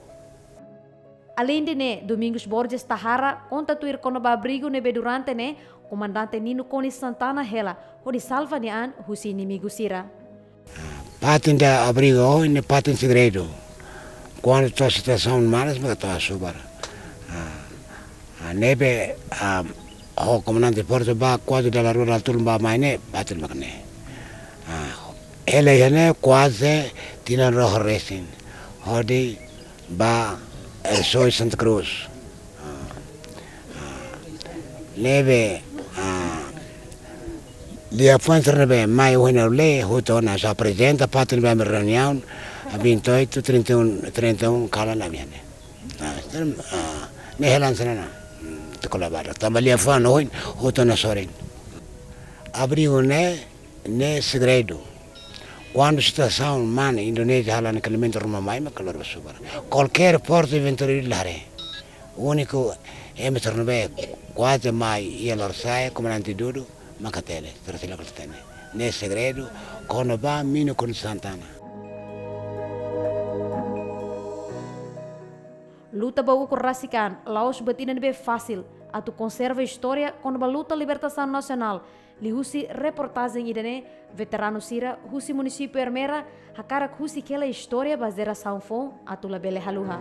Aleinde ne'e, Domingos Borges Tahara konta tuir kona-ba abrigu ne'ebé durante ne'e Komandante Nino Konis Santana hela hodi salva nia an husi inimigu sira. Fatin ida abrigu ne'e fatin segredu. Kuandu to'o situasaun manas maka to'o asubar. Ah, ah, ne'ebé, ah, ho komandante Porto ba kuaze dala rua dala tolu ba mai ne'e fatin mak ne'e. Ah, hela iha ne'e kuaze tinan rua resin. Hodi ba Ersoy Santa Cruz. Ah, ah, ne'ebé, ah, liafuan sira ne'ebé mai ohin ha'u lee, hotu ona só aprezenta fatin ne'ebé ami reuniaun, ah, vinte e oito, trinta e um, trinta e um kalan ami iha ne'e. Ah, ne'e helan sira na, hmm, te kolaboradór. Tanba liafuan ohin, hotu ona sorin. Abrigu ne'e, ne'e segredu. Kuandu situasaun manas, Indonézia halo ankaliamentu ruma mai, maka lori ba subar. Kualkér forsa eventualidade la haree. Úniku ema sira ne'ebé kuaze mai iha lorosa'e, komandante Dudu, maka tele, sira sira la hatene. Ne'e segredu, kona-ba Nino Konis Santana. Luta ba ukun rasik an la'ós buat ida ne'ebé fasil. Atu konserva istória kona-ba luta libertasaun nasionál, liuhusi reportajen ida-ne'e, veteranu sira husi munisípiu Ermera hakarak husik hela istória ba jerasaun foun atu labele haluha.